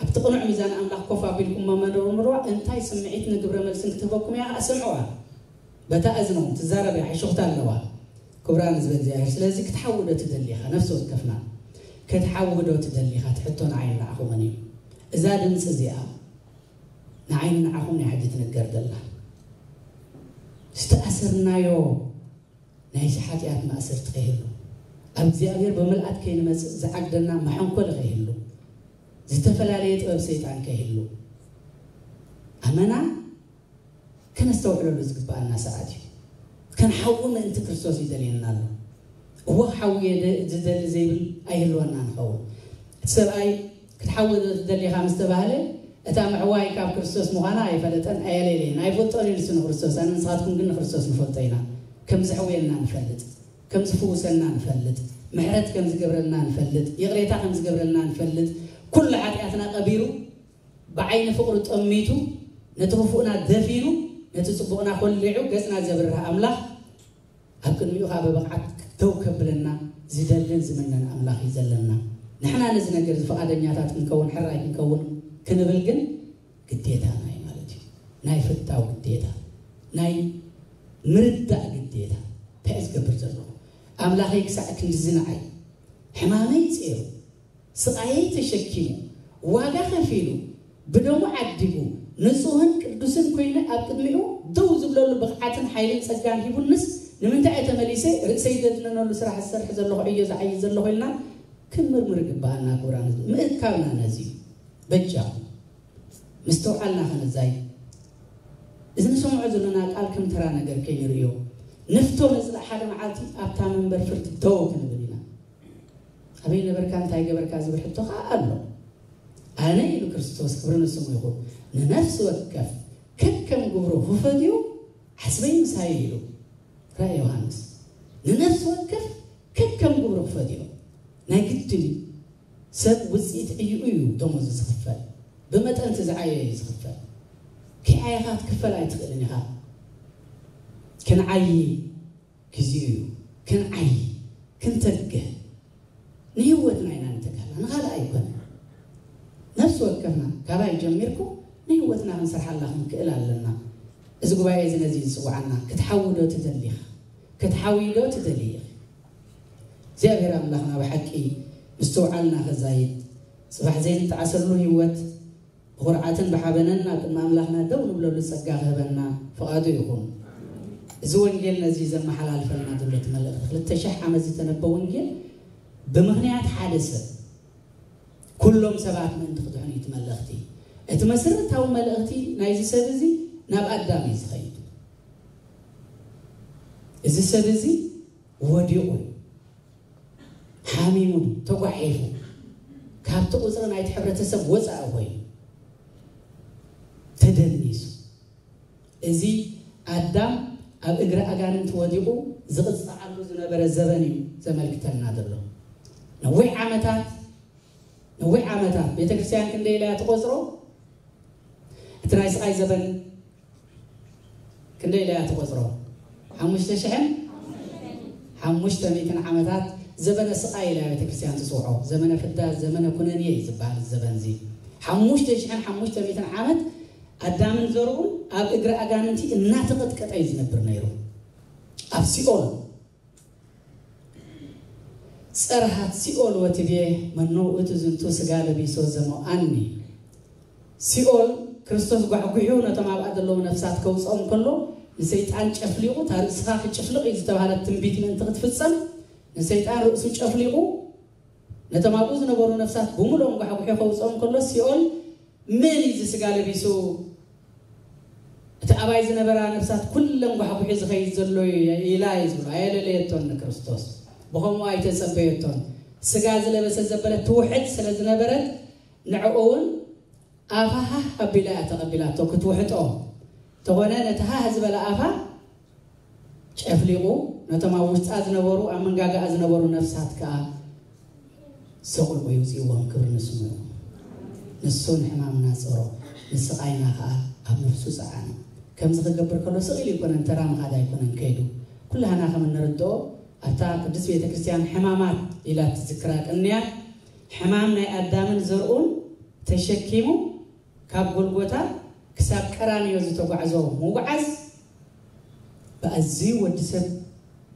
ኣብቲ ቅኑዕ ሚዛን ኣምላኽ ኮፍ ኣቢልኩም እሞ መርምርዋ፣ እንታይ ስምዒት ንግብረ መልስን ክትህበኩም እያ ከኣ ስምዕዋ። በታ እዝኖም ትዛረብ እያ፣ ሕሹኽታ ኣለዋ። ክብራ ንዝበ እግዚኣብሔር። ስለዚ ክትሓዊ ዶ ትደሊ ኢኻ? ነፍሲ ወከፍና ክትሓዊ ዶ ትደሊ ኢኻ? እቲ ሕቶ ንዓይን ንዓኹምን እዩ። እዛ ድምፂ እዚኣ ንዓይን ንዓኹምን እያ ሕጂ ትንገር ዘላ። ዝተኣሰርናዮ ናይዚ ሓጢኣት ማእሰርቲ ከይህሉ፣ ኣብ እግዚኣብሔር ብምልኣት ከይንመጽእ ዝዓግደና መሐንኮሊ ከይህሉ፣ ዝተፈላለየ ጥበብ ሰይጣን ከይህሉ፣ ኣመና ከነስተውዕለሉ ዝግብኣና ሰዓት እዩ። ክንሓዊ ምእንቲ ክርስቶስ ይደልየና ኣሎ። እወ ክሓዊ እየ ደ-፣ ዝደሊ ዘይብል ኣይህልወና ንኸውን። እቲ ሰብኣይ ክትሓዊ ዶ ትደሊ ኢኻ ምስ ተባህለ፣ እታ ምሕዋይ ካብ ክርስቶስ ምዃና ኣይፈለጠን፣ ኣየለየለየን። ኣይፈልጦን እዩ ንሱ ንክርስቶስ፣ ኣነ ንስኻትኩም ግን ንክርስቶስ ንፈልጦ ኢና። ከም ዘሕውየና ንፈልጥ፣ ከም ዝፍውሰና ንፈልጥ፣ ምሕረት ከም ዝገብረልና ንፈልጥ፣ ይቕሬታ ከም ዝገብረልና ንፈልጥ፣ ኩሉ ሓጢኣትና ቀቢሩ፣ ብዓይኒ ፍቕሩ ጠሚቱ፣ ነቲ ክፉእና ደፊኑ፣ ነቲ ጽቡቕና ኮሊዑ ገጽና ዘብርህ ኣምላኽ፣ ኣብ ቅድሚኡ ኸኣ ብብቕዓት ደው ከብለና ዝደልን ዝምነን ኣምላኽ እዩ ዘለና። ንሕና ነዚ ነገር እዚ ፍቓደኛታት ክንከውን፣ ሕራይ ክንከውን ክንብል ግን ግዴታና እዩ ማለት እዩ። ናይ ፍታው ግዴታ፣ ናይ ምርዳእ ግዴታ። እንታይ እዩ ዝገብር ዘለኹ? ኣምላኸይ ክሳዕ ክንድዚ ንዓይ ሕማመይ ጼሩ፣ ስቓየይ ተሸኪሙ፣ ዋጋ ከፊሉ፣ ብደሙ ዓዲጉ፣ ንጹህን ቅዱስን ኮይነ ኣብ ቅድሚኡ ደው ዝብለሉ ብቕዓትን ሓይልን ጸጋን ሂቡንስ፣ ንምንታይ እየ ተመሊሰ ርእሰይ ዘድነነሉ ስራሕ ዝሰርሕ ዘለኹ ዕዮ ዝዓይይ ዘለኹ ኢልና ክንምርምር ይግብኣና። ክቡራን ህዝቢ፣ ምእካብና ነዚ እዩ። በጃኹም፣ ምስትውዓልና ከነዛይ፣ እዚ ንሰምዖ ዘለና ቃል ከም ተራ ነገር ከይንርእዮ፣ ንፍቶ ነጽላእ፣ ሓደ መዓልቲ ኣብታ መንበር ፍርዲ ደው ክንብል ኢና። ኣበይ ነበርካ፣ እንታይ ገበርካ ዝብል ሕቶ ኸኣ ኣሎ። ኣነ ኢሉ ክርስቶስ፣ ክብሪ ንስሙ ይኹን፣ ንነፍሲ ወከፍ ከከም ግብሩ ክፈትዮ ሓስበይ ምሳይ ኢሉ። ራእይ ዮሃንስ። ንነፍሲ ወከፍ ከከም ግብሩ ክፈትዮ ናይ ግድን እዩ። ሰብ ውጽኢት ዕይኡ እዩ ደሞዙ ዝኽፈል። ብመጠን እቲ ዝዓየ እዩ ዝኽፈል። ከይዓየኻ ክትክፈል ኣይትኽእልን ኢኻ። ክንዓዪ ግዜኡ እዩ። ክንዓዪ፣ ክንተግህ፣ ንህይወትና ኢና ንተጋህላ፣ ንኻልእ ኣይኮነን። ነፍሲ ወከፍና ካባይ ጀሚርኩ ንህይወትና ክንሰርሓላ ክንክእል ኣለና። እዚ ጉባኤ እዚ ነዚ እዩ ዝጽውዓና። ክትሓዊ ዶ ትደሊ ኢኻ? ክትሓዊ ዶ ትደሊ ኢኺ? እግዚኣብሔር ኣምላኽና ብሓቂ ምስትውዓልና ከዛይድ፣ ጽባሕ ዘይንጠዓሰሉ ህይወት ብኹርዓትን ብሓበንን ኣብ ቅድሚ ኣምላኽና ደው ንብለሉ ጸጋ ክህበና ፍቓዱ ይኹን። እዚ ወንጌል ነዚ ዘመሓላልፈልና ዘሎ እቲ መልእኽቲ፣ ክልተ ሽሕ ዓመት ዝተነበ ወንጌል ብምኽንያት ሓደ ሰብ፣ ኩሎም ሰባት ምእንቲ ክድሕኑ እዩ እቲ መልእኽቲ። እቲ መሰረታዊ መልእኽቲ ናይዚ ሰብ እዚ ናብ ኣዳም እዩ ዝኸይድ። እዚ ሰብ እዚ ወዲቑ እዩ፣ ሓሚሙ፣ ተጓሒፉ፣ ካብቲ ቁፅሪ ናይቲ ሕብረተሰብ ወፃኢ ኮይኑ ተደኒሱ። እዚ ኣዳም ኣብ እግሪ ኣጋንንቲ ወዲቑ ዝቕፃዓሉ ዝነበረ ዘበን እዩ ዘመልክተልና ዘሎ። ነዊሕ ዓመታት፣ ነዊሕ ዓመታት ቤተክርስትያን ክንደይ ኢላ እያ ትቆፅሮ? እቲ ናይ ስቓይ ዘበን ክንደይ ኢላ እያ ትቆፅሮ? ሓሙሽተ ሽሕን ሓሙሽተ ሚእትን ዓመታት ዘበነ ስቓይ ኢላ ቤተክርስትያን ትፅውዖ። ዘመነ ፍዳ፣ ዘመነ ኩነኔ እዩ ዝበሃል እዚ ዘበን እዚ። ሓሙሽተ ሽሕን ሓሙሽተ ሚእትን ዓመት ኣዳምን ዘርኡን ኣብ እግሪ ኣጋንንቲ እናተቐጥቀጠ እዩ ዝነብር ነይሩ። ኣብ ሲኦል፣ ጸርሃት ሲኦል ወትቤ፣ መኑ ውእቱ ዝንቱ ስጋ ለቢሶ ዘመውኣኒ። ሲኦል ክርስቶስ ጓሕጒሑ ነቶም ኣብኣ ዘለዉ ነፍሳት ከውጽኦም ከሎ፣ ንሰይጣን ጨፍሊቑ፣ እታ ርእስኻ ክጭፍልቕ እዩ ዝተባህለት ትንቢት ምእንቲ ክትፍጸም፣ ንሰይጣን ርእሱ ጨፍሊቑ፣ ነቶም ኣብኡ ዝነበሩ ነፍሳት ብምሉኦም ጓሕጒሑ ከውጽኦም ከሎ፣ ሲኦል፣ "መን እዩ እዚ ስጋ ለቢሱ? እቲ ኣባይ ዝነበራ ነፍሳት ኩለን ጓሕጒሑ ዝኸይድ ዘሎ እዩ" ኢላ እዩ ዝብሎ። ኣየለለየቶን ንክርስቶስ። ብኸምኡ ኣይተጸበየቶን። ስጋ ዝለበሰ ዘበለት ትውሕጥ ስለ ዝነበረት፣ ንዕኡ እውን ኣፋ ሃህ ኣቢላ እያ ተቐቢላቶ፣ ክትውሕጦ። እንተኾነ ነቲ ሃህ ዝበለ ኣፋ ጨፍሊቑ፣ ነቶም ኣብ ውሽጣ ዝነበሩ፣ ኣብ መንጋጋኣ ዝነበሩ ነፍሳት ከኣ ሰቑልቁ ይውፅእዎም። ክብሪ ንስሙ ይኹን። ንሱ ንሕማምና ጸሮ፣ ንስቓይና ከኣ ኣብ ነፍሱ ጸዓነ። ከምዚ ክገብር ከሎ ስቕ ኢሉ ኣይኮነን፣ ተራ ምኻድ ኣይኮነን ከይዱ። ኩላህና ከም እንርድኦ፣ ኣብታ ቅድስት ቤተ ክርስቲያን ሕማማት ኢላ እትዝክራ ቅንያት፣ ሕማም ናይ ኣዳምን ዘርኡን ተሸኪሙ ካብ ጎልጎታ ክሳብ ቀራንዮ ዝተጓዕዞ ምጉዓዝ፣ ብኣዝዩ ወዲ ሰብ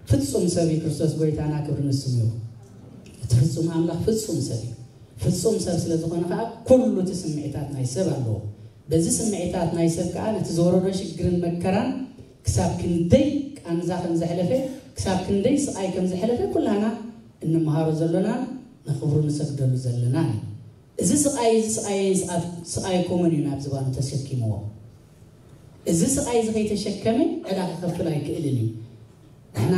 ፍጹም ሰብ እዩ ክርስቶስ ጎይታና፣ ክብሪ ንስሙ ይኹን። እቲ ፍጹም ኣምላኽ ፍጹም ሰብ እዩ። ፍጹም ሰብ ስለ ዝኾነ ከኣ፣ ኩሉ እቲ ስምዒታት ናይ ሰብ ኣለዎ። በዚ ስምዒታት ናይ ሰብ ከኣ፣ ነቲ ዝወረዶ ሽግርን መከራን ክሳብ ክንደይ ቃንዛ ከም ዘሕለፈ፣ ክሳብ ክንደይ ስቓይ ከም ዘሕለፈ፣ ኩላህና እንመሃሮ ዘሎናን ንኽብሩ ንሰግደሉ ዘለናን እዩ። እዚ ስቓይ፣ እዚ ስቓይ፣ ስቓይ፣ ስቓይ ኮመን እዩ ናብ ዝባኑ ተሰኪምዎ። እዚ ስቓይ እዚ ከይተሸከመ ዕዳ ክኸፍል ኣይክእልን እዩ። ንሕና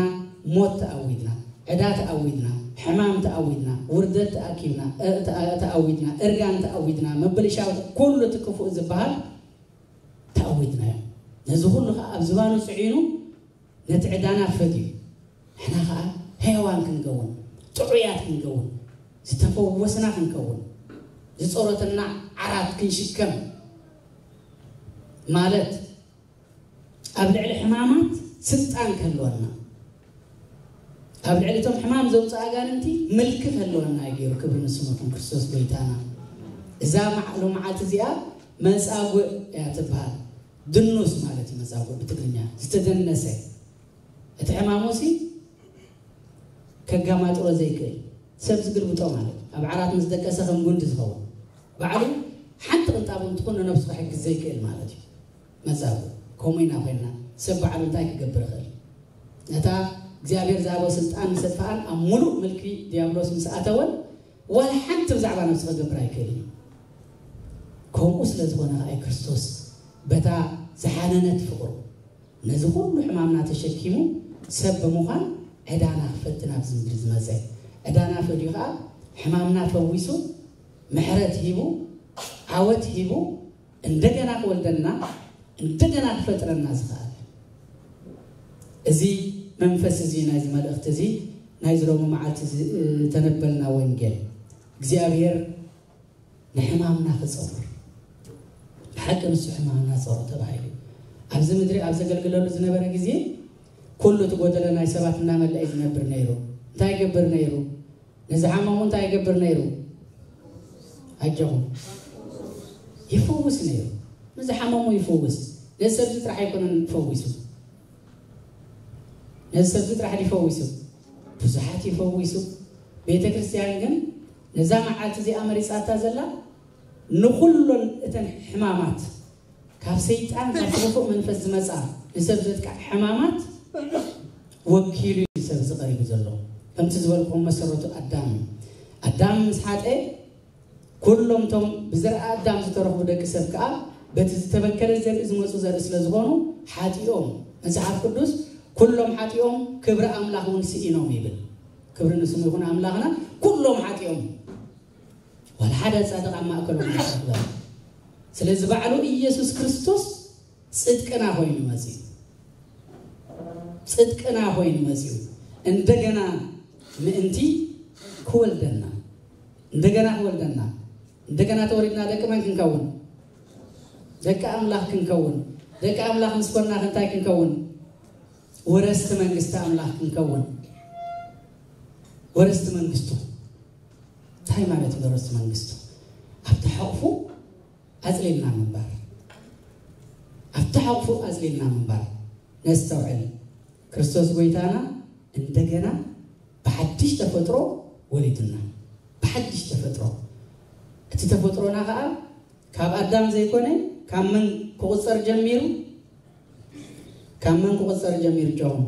ሞት ተኣዊድና፣ ዕዳ ተኣዊድና፣ ሕማም ተኣዊድና፣ ውርደት ተኣኪብና፣ እ-፣ ተኣ-፣ ተኣዊድና፣ እርጋን ተኣዊድና፣ ምብልሻው፣ ኩሉ እቲ ክፉእ ዝበሃል ተኣዊድናዮ። ነዚ ኩሉ ከኣ ኣብ ዝባኑ ጽዒኑ ነቲ ዕዳና ፈድዩ፣ ንሕና ከኣ ሕያዋን ክንከውን፣ ጥዑያት ክንከውን፣ ዝተፈወስና ክንከውን፣ ዝጸሮተና ዓራት ክንሽከም ማለት፣ ኣብ ልዕሊ ሕማማት ስልጣን ክህልወና፣ ኣብ ልዕሊ እቶም ሕማም ዘውፅእ ኣጋንንቲ ምልኪ ክህልወና እዩ ገይሩ። ክብሪ ንስሙ ይኹን፣ ክርስቶስ ጎይታና። እዛ መዓ-፣ ሎመዓልቲ እዚኣ መጻጉዕ እያ ትበሃል። ድኑስ ማለት እዩ መጻጉዕ ብትግርኛ፣ ዝተደነሰ። እቲ ሕማሙ ሲ ከጋማጥሮ ዘይክእል፣ ሰብ ዝግልብጦ ማለት እዩ። ኣብ ዓራት ምስ ደቀሰ ከም ጉንዲ ዝኸውን፣ ባዕሉ ሓንቲ ቅንጣብ እንትኹን ንነብሱ ክሕግዝ ዘይክእል ማለት እዩ። መጻጉዕ ከምኡ ኢና ኮይንና። ሰብ ባዕሉ እንታይ ክገብር ይኽእል? ነታ እግዚኣብሔር ዝሃቦ ስልጣን ምስ ኣጥፍኣን፣ ኣብ ሙሉእ ምልኪ ዲያብሎስ ምስ ኣተወን፣ ዋላ ሓንቲ ብዛዕባ ነብሱ ክገብር ኣይክእልን እዩ። ከምኡ ስለ ዝኾነ ከኣ እዩ ክርስቶስ በታ ዝሓነነት ፍቕሩ ነዚ ኩሉ ሕማምና ተሸኪሙ ሰብ ብምዃን ዕዳና ክፈዲ ናብዚ ምድሪ ዝመጸ። ዕዳና ፈድዩ ከኣ ሕማምና ፈዊሱ፣ ምሕረት ሂቡ፣ ዓወት ሂቡ፣ እንደገና ክወልደና፣ እንደገና ክፈጥረና ዝኸኣለ። እዚ መንፈስ እዚ ናይዚ መልእኽቲ እዚ፣ ናይዚ ሎሚ መዓልቲ እዚ፣ እ፣ ተነበልና ወንጌል እግዚኣብሔር ንሕማምና ክጸውር። ብሓቂ ንሱ ሕማምና ጸውር ተባሂሉ። ኣብዚ ምድሪ ኣብ ዘገልግለሉ ዝነበረ ግዜ ኩሉ እቲ ጎደሎ ናይ ሰባት እናመልአ እዩ ዝነብር ነይሩ። እንታይ ይገብር ነይሩ? ንዝሓመሙ እንታይ ይገብር ነይሩ? ኣጆኹም። ይፈውስ ነይሩ። ንዝሓመሙ ይፈውስ። ነዚ ሰብዚ ጥራሕ ኣይኮነን ፈዊሱ። ነዚ ሰብዚ ጥራሕ ድዩ ፈዊሱ? ብዙሓት ይፈዊሱ። ቤተ ክርስቲያን ግን ነዛ መዓልቲ እዚኣ መሪጻታ ዘላ ንኹሎን እተን ሕማማት፣ ካብ ሰይጣን ካብ ክፉእ መንፈስ ዝመጻ ንሰብ ዘጥቃዕ ሕማማት ወኪሉ እዩ ሰብ ዝቐሪቡ ዘሎ። ከምቲ ዝበልኩም መሰረቱ ኣዳም እዩ። ኣዳም ምስ ሓጠ ኩሎም እቶም ብዘርኣ ኣዳም ዝተረኽቡ ደቂ ሰብ ከኣ በቲ ዝተበከለ ዘርኢ ዝመፁ ዘርኢ ስለ ዝኾኑ ሓጢኦም። መጽሓፍ ቅዱስ ኩሎም ሓጢኦም ክብሪ ኣምላኽ እውን ስኢኖም ይብል። ክብሪ ንስሙ ይኹን ኣምላኽና። ኩሎም ሓጢኦም፣ ዋላ ሓደ ጻድቕ ኣብ ማእከሎም ኣይረኽበን። ስለዚ ባዕሉ ኢየሱስ ክርስቶስ ጽድቅና ኮይኑ መጺኡ፣ ጽድቅና ኮይኑ መጺኡ፣ እንደገና ምእንቲ ክወልደና፣ እንደገና ክወልደና፣ እንደገና ተወሊድና ደቂ መን ክንከውን? ደቂ ኣምላኽ ክንከውን። ደቂ ኣምላኽ ምስ ኮንና እንታይ ክንከውን? ወረስቲ መንግስቲ ኣምላኽ ክንከውን። ወረስቲ መንግስቱ። እንታይ ማለት እዩ ወረስቲ መንግስቱ? ኣብቲ ሓቕፉ ኣጽሊልና ምንባር። ኣብቲ ሓቕፉ ኣጽሊልና ምንባር። ነስተውዕል። ክርስቶስ ጎይታና እንደገና ብሓድሽ ተፈጥሮ ወሊዱና። ብሓድሽ ተፈጥሮ። እቲ ተፈጥሮና ከኣ ካብ ኣዳም ዘይኮነ ካብ መን ክቑጸር ጀሚሩ? ካብ መን ክቑጸር ጀሚሩ? ጆን፣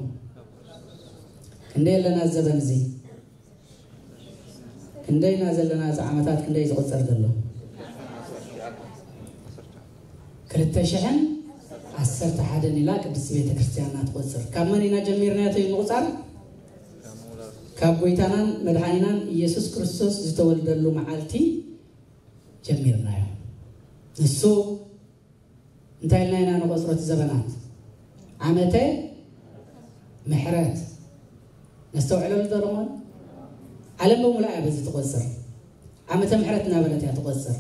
ክንደይ ኣለና ዘበን እዚ? ክንደይና ዘለና? እዚ ዓመታት ክንደይ ዝቑጸር ዘሎ? ክልተ ሽሕን ዓሰርተ ሓደን ኢላ ቅድስቲ ቤተ ክርስቲያንና ትቖጽር። ካብ መን ኢና ጀሚርናዮ እቲ ምቑጻር? ካብ ጎይታናን መድሓኒናን ኢየሱስ ክርስቶስ ዝተወልደሉ መዓልቲ ጀሚርናዮ። ንሱ እንታይ ኢልና ኢና ንቖጽሮ እቲ ዘበናት? ዓመተ ምሕረት። ነስተውዕለሉ ዶ ንኾን? ዓለም ብምሉኣ እያ በዚ ትቖጽር። ዓመተ ምሕረት እናበለት እያ ትቖጽር።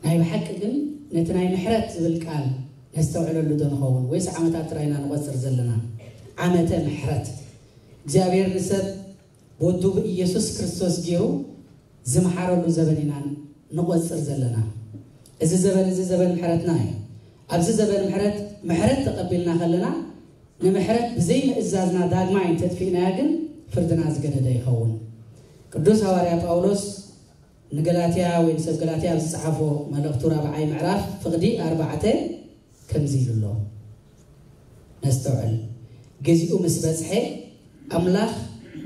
ናይ ብሓቂ ግን ነቲ ናይ ምሕረት ዝብል ቃል ነስተውዕለሉ ዶ ንኸውን? ወይስ ዓመታት ጥራይ ኢና ንቖጽር ዘለና? ዓመተ ምሕረት። እግዚኣብሔር ንሰብ ወዱ ብኢየሱስ ክርስቶስ ገይሩ ዝመሓረሉ ዘበን ኢና ንቖጽር ዘለና። እዚ ዘበን እዚ ዘበን ምሕረትና እዩ። ኣብዚ ዘበን ምሕረት፣ ምሕረት ተቐቢልና ከለና፣ ንምሕረት ብዘይ ምእዛዝና ዳግማይ እንተጥፊእናያ ግን ፍርድና ዝገደደ ይኸውን። ቅዱስ ሃዋርያ ጳውሎስ ንገላትያ ወይ ንሰብ ገላትያ ኣብ ዝጸሓፎ መልእኽቱ ራብዓይ ምዕራፍ ፍቕዲ ኣርባዕተ ከምዚ ኢሉ ኣሎ። ነስተውዕል። ግዚኡ ምስ በጽሐ፣ ኣምላኽ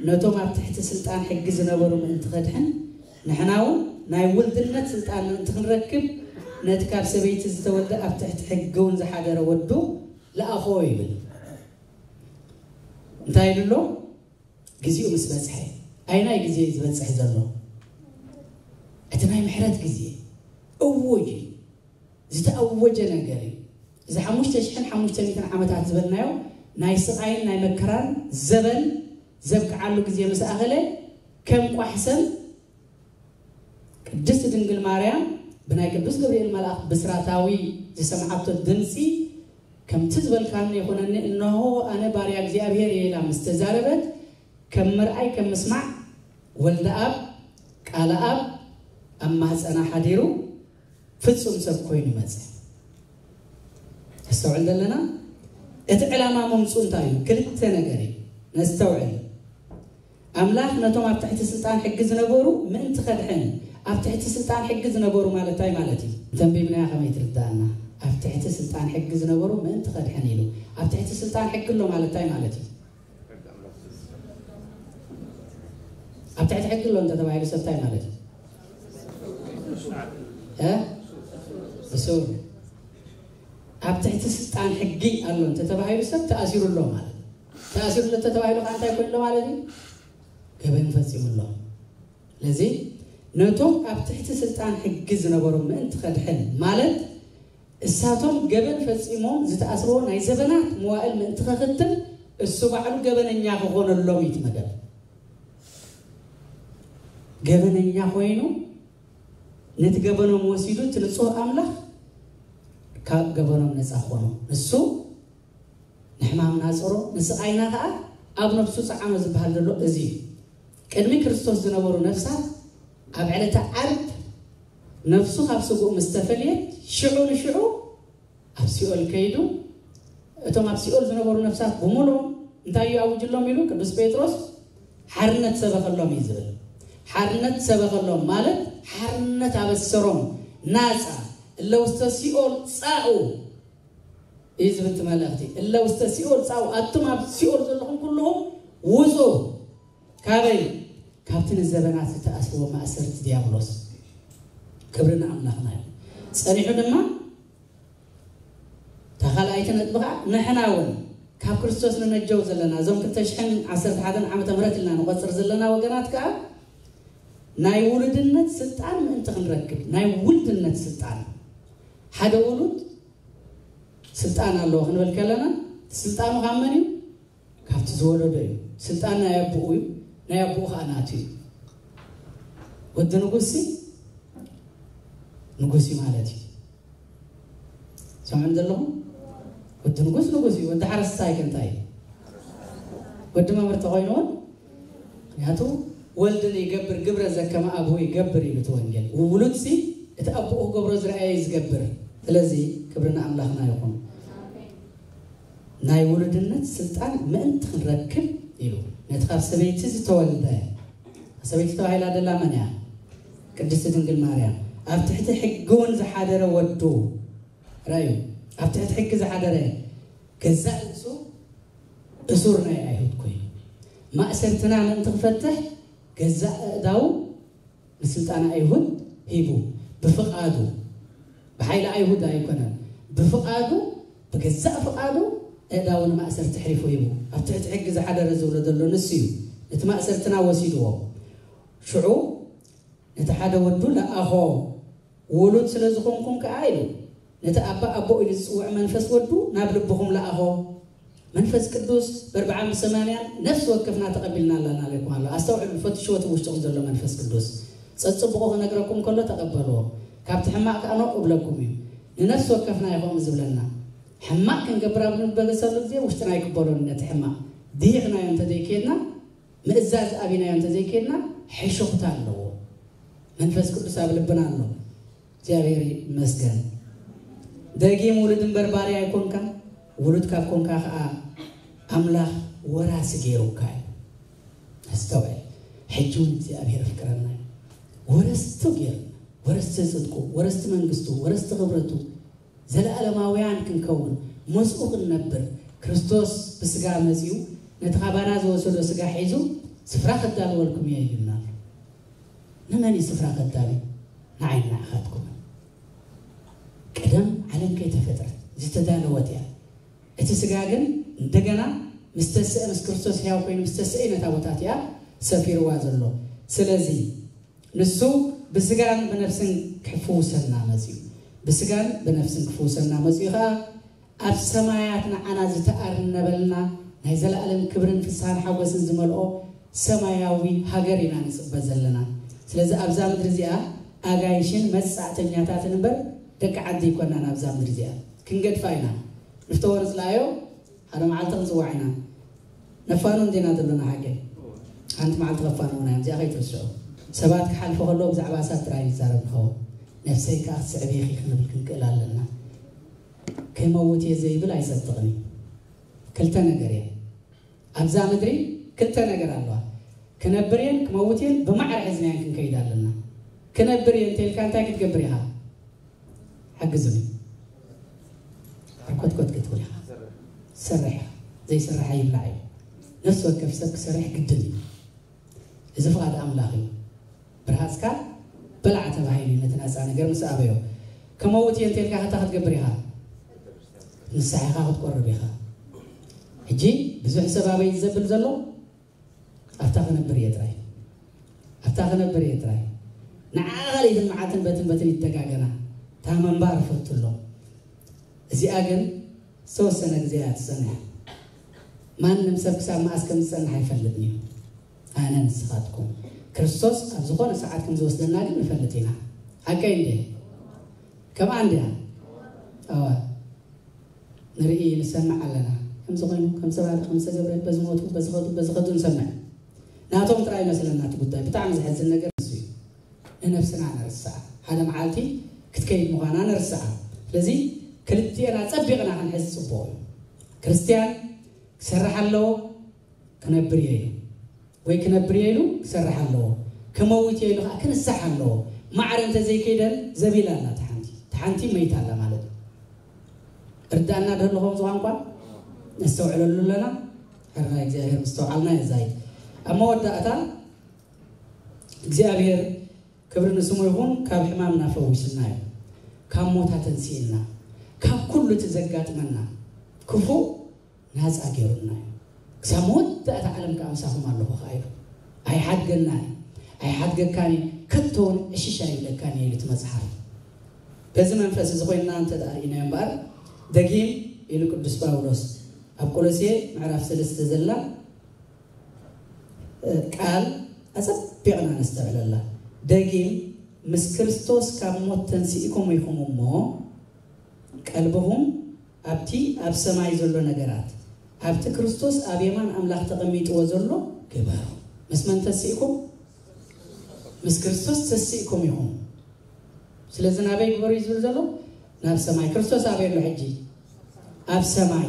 ነቶም ኣብ ትሕቲ ስልጣን ሕጊ ዝነበሩ ምእንቲ ከድሕን፣ ንሕና እውን ናይ ውልድነት ስልጣን ምእንቲ ክንረክብ፣ ነቲ ካብ ሰበይቲ ዝተወልደ ኣብ ትሕቲ ሕጊ እውን ዝሓደረ ወዱ ለኣኾ ይብል። እንታይ ኢሉ ኣሎ? ግዚኡ ምስ በጽሐ። ኣይናይ ግዜ እዩ ዝበጽሕ ዘሎ? እቲ ናይ ምሕረት ግዜ እውጅ እዩ። ዝተኣወጀ ነገር እዩ። እዚ ሓሙሽተ ሽሕን ሓሙሽተ ሚእትን ዓመታት ዝበልናዮ ናይ ስቓይን ናይ መከራን ዘበን ዘብቅዓሉ ግዜ ምስ ኣኸለ፣ ከም ቋሕሰም ቅድስቲ ድንግል ማርያም ብናይ ቅዱስ ገብርኤል መልኣኽ ብስራታዊ ዝሰምዓቶ ድምፂ፣ ከምቲ ዝበልካኒ ይኹነኒ፣ እነሆ ኣነ ባርያ እግዚኣብሔር እየ ኢላ ምስ ተዛረበት፣ ከም ምርኣይ ከም ምስማዕ ወልደ ኣብ ቃለ ኣብ ኣብ ማህፀና ሓዲሩ ፍጹም ሰብ ኮይኑ መጸ። ነስተውዕል ዘለና። እቲ ዕላማ መምጹ እንታይ እዩ? ክልተ ነገር እዩ። ነስተውዕል። ኣምላኽ ነቶም ኣብ ትሕቲ ስልጣን ሕጊ ዝነበሩ ምእንቲ ከድሕን፣ ኣብ ትሕቲ ስልጣን ሕጊ ዝነበሩ ማለት እንታይ ማለት እዩ? ተንቢብናያ ከመይ ትርዳእና? ኣብ ትሕቲ ስልጣን ሕጊ ዝነበሩ ምእንቲ ከድሕን ኢሉ። ኣብ ትሕቲ ስልጣን ሕጊ ኣሎ ማለት እንታይ ማለት እዩ? ኣብ ትሕቲ ሕጊ ኣሎ እንተተባሂሉ ሰብ እንታይ ማለት እዩ? እ? እሱር። ኣብ ትሕቲ ስልጣን ሕጊ ኣሎ እንተተባሂሉ ሰብ ተኣሲሩ ኣሎ ማለት እዩ። ተኣሲሩ ኣሎ እንተተባሂሉ ከዓ እንታይ ኮይኑ ኣሎ ማለት እዩ? ገበን ፈጺሙ ኣሎ። ስለዚ ነቶም ኣብ ትሕቲ ስልጣን ሕጊ ዝነበሩ ምእንቲ ከድሕን ማለት እሳቶም ገበን ፈጺሞም ዝተኣስርዎ ናይ ዘበናት መዋእል ምእንቲ ከኽትም እሱ ባዕሉ ገበነኛ ክኾነሎም እዩ እቲ መደብ። ገበነኛ ኮይኑ ነቲ ገበኖም ወሲዱ እቲ ንጹህ ኣምላኽ ካብ ገበኖም ነጻ ክኾኑ። ንሱ ንሕማም ናጽሮ፣ ንስቓይና ከኣ ኣብ ነፍሱ ጸዓኖ ዝበሃል ዘሎ እዚ እዩ። ቅድሚ ክርስቶስ ዝነበሩ ነፍሳት ኣብ ዕለተ ዓርብ ነፍሱ ካብ ስግኡ ምስ ተፈልየት ሽዑ ንሽዑ ኣብ ሲኦል ከይዱ እቶም ኣብ ሲኦል ዝነበሩ ነፍሳት ብምሉኦም እንታይ እዩ ኣውጅሎም ኢሉ ቅዱስ ጴጥሮስ ሓርነት ሰበኸሎም እዩ ዝብል። ሓርነት ሰበኸሎም ማለት ሓርነት ኣበሰሮም። ናፃ እለ ውስተ ሲኦል ጻኡ እዩ ዝብል እቲ መልእኽቲ። እለ ውስተ ሲኦል ጻኡ፣ ኣቱም ኣብ ሲኦል ዘለኹም ኩልኹም ውጹ። ካበይ? ካብቲ ንዘበናት ዝተኣስርዎ ማእሰርቲ ዲያብሎስ። ክብሪ ንኣምላኽና እዩ። ጸኒሑ ድማ እታ ካልኣይቲ ነጥቢ ከዓ ንሕና እውን ካብ ክርስቶስ ንነጀው ዘለና እዞም ክልተ ሽሕን ዓሰርተ ሓደን ዓመተ ምህረት ኢልና ንቆፅር ዘለና ወገናት ከዓ ናይ ውሉድነት ስልጣን ምእንቲ ክንረክብ፣ ናይ ውልድነት ስልጣን፣ ሓደ ውሉድ ስልጣን ኣለዎ ክንብል ከለና፣ ስልጣኑ ካብ መን እዩ? ካብቲ ዝወለዶ እዩ። ስልጣን ናይ ኣቦኡ እዩ፣ ናይ ኣቦኡ ከዓ ናቱ እዩ። ወዲ ንጉስ ንጉስ እዩ ማለት እዩ። ሰምዑን ዘለኹም? ወዲ ንጉስ ንጉስ እዩ። ወዲ ሓረስታይ ከ እንታይ እዩ? ወዲ መምህር ተኮይኑ እውን፣ ምክንያቱ ወልድ ይገብር ግብረ ዘከመ ኣብሁ ይገብር እዩ እቲ ወንጌል። ውሉድ ሲ እቲ ኣቦኡ ክገብሮ ዝረኣየ እዩ ዝገብር። ስለዚ ክብሪ ንኣምላኽና ይኹን። ናይ ውሉድነት ስልጣን ምእንቲ ክንረክብ ኢሉ ነቲ ካብ ሰበይቲ ዝተወልደ፣ ሰበይቲ ተባሂላ ደላ መን እያ? ቅድስቲ ድንግል ማርያም። ኣብ ትሕቲ ሕጊ እውን ዝሓደረ ወዱ፣ ራዩ፣ ኣብ ትሕቲ ሕጊ ዝሓደረ ገዛእ ርእሱ እሱር ናይ ኣይሁድ ኮይኑ፣ ማእሰርትና ምእንቲ ክፈትሕ ገዛእ ኣእዳዉ ንስልጣን ኣይሁድ ሂቡ። ብፍቓዱ፣ ብሓይሊ ኣይሁድ ኣይኮነን። ብፍቓዱ፣ ብገዛእ ፍቓዱ ኣእዳዉ ንማእሰርቲ ኣሕሊፉ ሂቡ። ኣብ ትሕቲ ሕጊ ዝሓደረ ዝብሎ ዘሎ ንሱ እዩ። ነቲ ማእሰርትና ወሲድዎ። ሽዑ ነቲ ሓደ ወዱ ለኣኾ። ውሉድ ስለ ዝኾንኩም ከኣ ኢሉ፣ ነቲ ኣባ ኣቦ ኢሉ ዝጽውዕ መንፈስ ወዱ ናብ ልብኹም ለኣኾ። መንፈስ ቅዱስ በርብዓን ብሰማንያን ነፍሲ ወከፍና ተቐቢልና ኣለና ኢለኩም ኣሎ። ኣስተውዕሉ፣ ፈትሽዎ እቲ ውሽጥኹም ዘሎ መንፈስ ቅዱስ። ጸጽብቑ ክነግረኩም ከሎ ተቐበልዎ። ካብቲ ሕማቕ ከኣ ኖእ እብለኩም እዩ። ንነፍሲ ወከፍና እዩ ከምኡ ዝብለና። ሕማቕ ክንገብር ኣብ ንበገሰሉ ግዜ ውሽጥና ኣይቅበሎን ነቲ ሕማቕ። ድሂኽናዮ እንተዘይከድና፣ ምእዛዝ ኣቢናዮ እንተዘይከድና፣ ሕሹኽታ ኣለዎ። መንፈስ ቅዱስ ኣብ ልብና ኣሎ። እግዚኣብሔር ይመስገን። ደጊም ውሉድ እምበር ባርያ ኣይኮንካ፣ ውሉድ ካብ ኮንካ ኸዓ ኣምላኽ ወራሲ ገይሩካ እዩ። ኣስተውዕል። ሕጂ እውን እግዚኣብሔር ኣፍቅረና እዩ። ወረስቱ ገይሩና፣ ወረስቲ ጽድቁ፣ ወረስቲ መንግስቱ፣ ወረስቲ ክብረቱ፣ ዘለኣለማውያን ክንከውን፣ ምስኡ ክንነብር። ክርስቶስ ብስጋ መጺኡ ነቲ ካባና ዝወሰዶ ስጋ ሒዙ፣ ስፍራ ከዳልወልኩም እየ ኢሉና ኣሎ። ንመን እዩ ስፍራ ከዳሉ? ንዓይን ንዓኻትኩምን። ቀደም ዓለም ከይተፈጥረት ዝተዳለወት እያ። እቲ ስጋ ግን እንደገና ምስ ተስአ፣ ምስ ክርስቶስ ሕያው ኮይኑ ምስ ተስአ እዩ ነታ ቦታ እቲኣ ሰፊርዋ ዘሎ። ስለዚ ንሱ ብስጋን ብነፍስን ክፍውሰና መጺኡ። ብስጋን ብነፍስን ክፍውሰና መጺኡ ኸኣ ኣብ ሰማያት ንዓና ዝተኣርነበልና ናይ ዘለኣለም ክብርን ፍስሃን ሓጎስን ዝመልኦ ሰማያዊ ሃገር ኢና ንጽበ ዘለና። ስለዚ ኣብዛ ምድሪ እዚኣ ኣጋይሽን መጻእተኛታትን እምበር ደቂ ዓዲ ኣይኮናን። ኣብዛ ምድሪ እዚኣ ክንገድፋ ኢና። ንፍተወ ንጽላዮ ሓደ መዓልቲ ክንጽዋዕ ኢና። ነፋኑ እንዲና ዘለና ሓቂ። ሓንቲ መዓልቲ ከፋንዉና እዮም። እዚኣ ከይትርስዑ። ሰባት ክሓልፉ ከለዉ ብዛዕባ እሳት ጥራይ ይዛረብ ንኸውን። ነፍሰይ ከኣ ክትስዕቢ ኢኺ ክንብል ክንክእል ኣለና። ከይመውት እየ ዘይብል ኣይጸድቕን እዩ። ክልተ ነገር እየ። ኣብዛ ምድሪ ክልተ ነገር ኣለዋ። ክነብር እየን ክመውት እየን ብማዕረ ሒዝናየን ክንከይድ ኣለና። ክነብር እየ እንተኢልካ እንታይ ክትገብር ኢኻ? ሓግዙኒ። ሕርኮትኮት ክትብል ኢኻ። ትሰርሕ ኢኻ። ዘይሰርሕ ኣይብላዕ እዩ። ነፍሲ ወከፍ ሰብ ክሰርሕ ግድን እዩ። እዚ ፍቓድ ኣምላኽ እዩ። ብርሃጽካ በላዕ ተባሂሉ እዩ ነቲ ናጻ ነገር ምስ ኣበዮ። ከመውት እየ እንተልካ ከታ ክትገብር ኢኻ። ንስሓ ኢኻ ክትቆርብ ኢኻ። ሕጂ ብዙሕ ሰብ ኣበይ ዘብል ዘሎ ኣብታ ክነብር እየ ጥራይ። ኣብታ ክነብር እየ ጥራይ። ንዓ ካልኢትን መዓልትን በትን በትን ይደጋገና። እታ ምንባር ፈቱ ኣሎ። እዚኣ ግን ዝተወሰነ ግዜ እያ ትጸንሕ። ማንም ሰብ ክሳብ መኣስ ከም ዝጸንሕ ኣይፈልጥን እዩ። ኣነ ንስኻትኩም ክርስቶስ ኣብ ዝኾነ ሰዓት ከም ዝወስደና ግን ንፈልጥ ኢና። ሓቀይ እንዴ? ከምኣ እንድያ? ኣዋ ንርኢ ንሰምዕ ኣለና። ከምዚ ኮይኑ ከም ሰባት ከም ዝተገብረ በዚ ሞቱ በዚ ኸዱ በዚ ኸዱ ንሰምዕ። ናቶም ጥራይ ይመስለና እቲ ጉዳይ። ብጣዕሚ ዘሕዝን ነገር እሱ እዩ። ንነብስና ነርስዓ። ሓደ መዓልቲ ክትከይድ ምዃና ነርስዓ። ስለዚ ክልቲኤን ኣጸቢቕና ክንሕዝ ጽቡቕ እዩ። ክርስትያን ክሰርሕ ኣለዎ፣ ክነብር እየ ኢሉ ወይ ክነብር እየ ኢሉ ክሰርሕ ኣለዎ። ክመውት እየ ኢሉ ከዓ ክንሳሕ ኣለዎ። ማዕረ እንተዘይከይደን ዘቢላ ኣላ፣ እቲ ሓንቲ እቲ ሓንቲ መይታ ኣላ ማለት እዩ። እርዳእና ዶ ኣለኹም ዝቋንቋ ነስተውዕለሉ ኣለና። ሕርና እግዚኣብሔር ምስተውዓልና የዛይድ። ኣብ መወዳእታ እግዚኣብሔር ክብሪ ንስሙ ይኹን፣ ካብ ሕማምና ፈዊስና እዩ። ካብ ሞታ ተንሲእና፣ ካብ ኩሉ እቲ ዘጋጥመና ክፉእ ናፃ ገይሩና እዩ። ክሳብ መወዳእታ ዓለም ከዓ ምሳኹም ኣለኹ ከዓ ኢሉ። ኣይሓድገና እዩ፣ ኣይሓድገካን እዩ፣ ከቶ እውን ዕሽሽ ኣይብለካን እዩ ኢሉ እቲ መፅሓፍ። በዚ መንፈስ እዚ ኮይንና እንተ ደኣ ርኢናዮ እምበኣር፣ ደጊም ኢሉ ቅዱስ ጳውሎስ ኣብ ቆሎሴ ምዕራፍ ሰለስተ ዘላ ቃል ኣጸቢቕና ነስተብዕለላ። ደጊም ምስ ክርስቶስ ካብ ሞት ተንሲእኩም ኢኹም እሞ፣ ቀልብኹም ኣብቲ ኣብ ሰማይ ዘሎ ነገራት፣ ኣብቲ ክርስቶስ ኣብ የማን ኣምላኽ ተቐሚጥዎ ዘሎ ግበሩ። ምስ መን ተንሲእኩም? ምስ ክርስቶስ ተንሲእኩም ኢኹም። ስለዚ ናበይ ግበሩ እዩ ዝብል ዘሎ? ናብ ሰማይ። ክርስቶስ ኣበይ ኣሎ ሕጂ? ኣብ ሰማይ።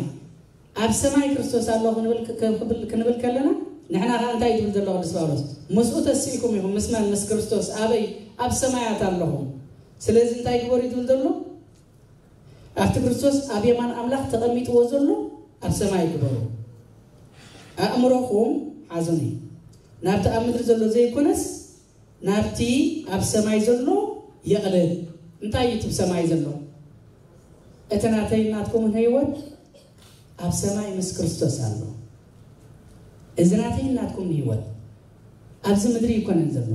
ኣብ ሰማይ ክርስቶስ ኣሎ ክንብል ክ- ክንብል ክንብል ከለና፣ ንሕና ከኣ እንታይ ትብል ዘሎ ቅዱስ ጳውሎስ? ምስኡ ተስኢኩም ኢኹም። ምስ መን? ምስ ክርስቶስ። ኣበይ? ኣብ ሰማያት ኣለኹም። ስለዚ እንታይ ግበሩ እዩ ትብል ዘሎ? ኣብቲ ክርስቶስ ኣብ የማን ኣምላኽ ተቐሚጥዎ ዘሎ ኣብ ሰማይ ግበሩ። ኣእምሮኹም ሓዙኒ፣ ናብቲ ኣብ ምድሪ ዘሎ ዘይኮነስ ናብቲ ኣብ ሰማይ ዘሎ የቕልብ። እንታይ እዩ እቲ ብሰማይ ዘሎ? እቲ ናተይ ናትኩምን ህይወት ኣብ ሰማይ ምስ ክርስቶስ ኣሎ። እዚ ናተይ ናትኩምን ህይወት ኣብዚ ምድሪ ይኮነን ዘሎ፣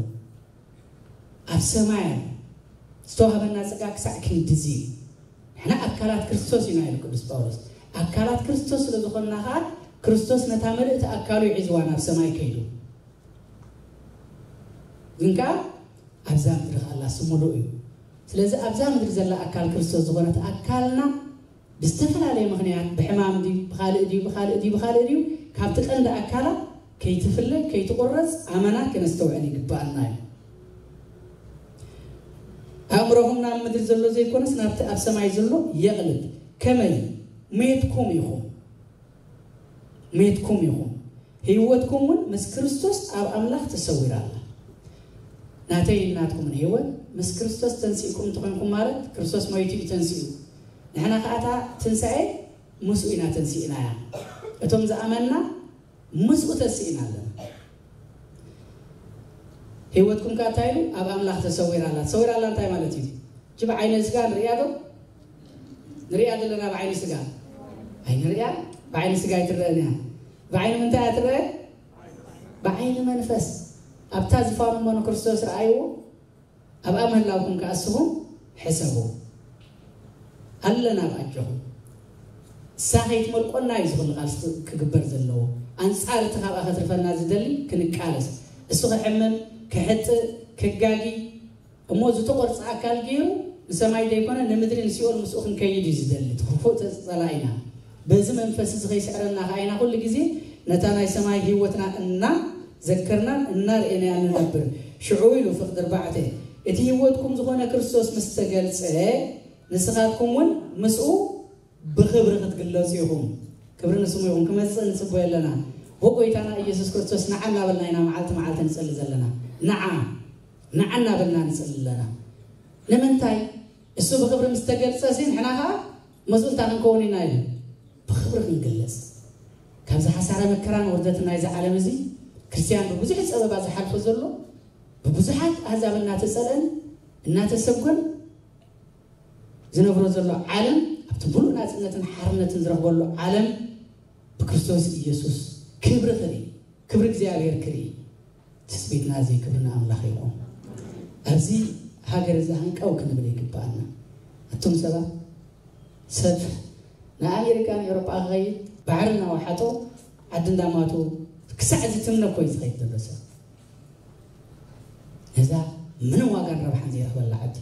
ኣብ ሰማይ ኣሎ። ዝተዋህበና ጸጋ ክሳዕ ክንድዚ እዩ። ንሕና ኣካላት ክርስቶስ ኢና ኢሉ ቅዱስ ጳውሎስ። ኣካላት ክርስቶስ ስለ ዝኾንና ኸኣ ክርስቶስ ነታ መልእቲ ኣካሉ እዩ ሒዝዋ ናብ ሰማይ ከይዱ። ግን ከኣ ኣብዛ ምድሪ ከኣ ኣላ ስሙሉ እዩ። ስለዚ ኣብዛ ምድሪ ዘላ ኣካል ክርስቶስ ዝኾነት ኣካልና ብዝተፈላለየ ምኽንያት ብሕማም ድዩ ብኻልእ ድዩ ብኻልእ ድዩ ብኻልእ ድዩ ካብቲ ቀንዲ ኣካላ ከይትፍለ ከይትቑረጽ ኣመና ክነስተውዕል ይግባኣና እዩ። ኣእምሮኹም ናብ ምድሪ ዘሎ ዘይኮነስ ናብቲ ኣብ ሰማይ ዘሎ የቕልብ። ከመይ? ሜትኩም ኢኹም፣ ሜትኩም ኢኹም፣ ህይወትኩም እውን ምስ ክርስቶስ ኣብ ኣምላኽ ተሰዊራ ኣላ። ናተይ ናትኩምን ህይወት ምስ ክርስቶስ ተንሲእኩም እንተኾንኩም ማለት ክርስቶስ ሞይቱ እዩ ተንሲኡ። ንሕና ከኣ እታ ትንሳኤ ምስኡ ኢና ተንሲእናያ። እቶም ዝኣመንና ምስኡ ተስኢና ኣለና። ህይወትኩም ከኣ እንታይ ኢሉ? ኣብ ኣምላኽ ተሰዊራ ኣላ። ተሰዊራ ኣላ እንታይ ማለት እዩ? እጂ ብዓይነ ስጋ ንርእያ ዶ? ንርእያ ዘለና ብዓይኒ ስጋ? ኣይንርእያ። ብዓይኒ ስጋ ኣይትረአን እያ። ብዓይኒ ምንታይ እያ ትረአ? ብዓይኒ መንፈስ። ኣብታ ዝፋኑ እሞ ንክርስቶስ ረኣይዎ፣ ኣብኣ ምህላውኩም ከኣ እስኹም ሕሰቡ። ኣለና ኣብ ኣጆኹም። እሳ ከይትመልቆና እዩ ዝኹሉ ቃልሲ ክግበር ዘለዎ። ኣንጻር እቲ ካብኣ ከትርፈና ዝደሊ ክንቃለስ። እሱ ክሕምም፣ ክሕጥእ፣ ክጋጊ፣ እሞ ዝተቖርጸ ኣካል ገይሩ ንሰማይ ዘይኮነ ንምድሪ ንሲኦል ምስኡ ክንከይድ እዩ ዝደሊ። እቲ ክፉእ ጸ- ጸላኢና። በዚ መንፈስ እዚ ከይስዕረና ከኣ ኢና ኩሉ ግዜ ነታ ናይ ሰማይ ህይወትና እናዘከርናን እናርኤናያን ንነብር። ሽዑ ኢሉ ፍቕዲ ኣርባዕተ፣ እቲ ህይወትኩም ዝኾነ ክርስቶስ ምስ ተገልጸ፣ ንስኻትኩም እውን ምስኡ ብኽብሪ ክትግለጹ ኢኹም። ክብሪ ንስሙ ይኹን። ክመጽእ ንጽበዮ ኣለና። ብጎይታና ኢየሱስ ክርስቶስ ንዓ እናበልና ኢና መዓልቲ መዓልቲ ንጽሊ ዘለና። ንዓ፣ ንዓ እናበልና ንጽሊ ኣለና። ንምንታይ? እሱ ብኽብሪ ምስ ተገልጸ ሲ ንሕና ኸዓ ምስኡ እንታይ ክንከውን ኢና ኢሉ? ብኽብሪ ክንግለጽ። ካብዚ ሓሳረ መከራን ውርደትን ናይዚ ዓለም እዚ ክርስትያን ብብዙሕ ጸበባ ዝሓልፎ ዘሎ፣ ብብዙሓት ኣህዛብ እናተጸልአን እናተሰጎን ዝነብሮ ዘሎ ዓለም፣ ኣብቲ ሙሉእ ናጽነትን ሓርነትን ዝረኽበሉ ዓለም ብክርስቶስ ኢየሱስ ክብሪ ክርኢ፣ ክብሪ እግዚኣብሔር ክርኢ። ትጽቢትና እዚ ክብሪ ንኣምላኽ ይኹን። ኣብዚ ሃገር እዚ ሃንቀው ክንብል ይግብኣና። ኣቱም ሰባት፣ ሰብ ንኣሜሪካን ኤውሮጳ ክኸይድ ባሕሪ እናወሓጦ ዓዲ እንዳማቱ ክሳዕ ዝትምነ እኮ እዩ ዝኸይድ ዘሎ ሰብ። ነዛ ምንም ዋጋን ረብሓን ዘይረኽበላ ዓዲ።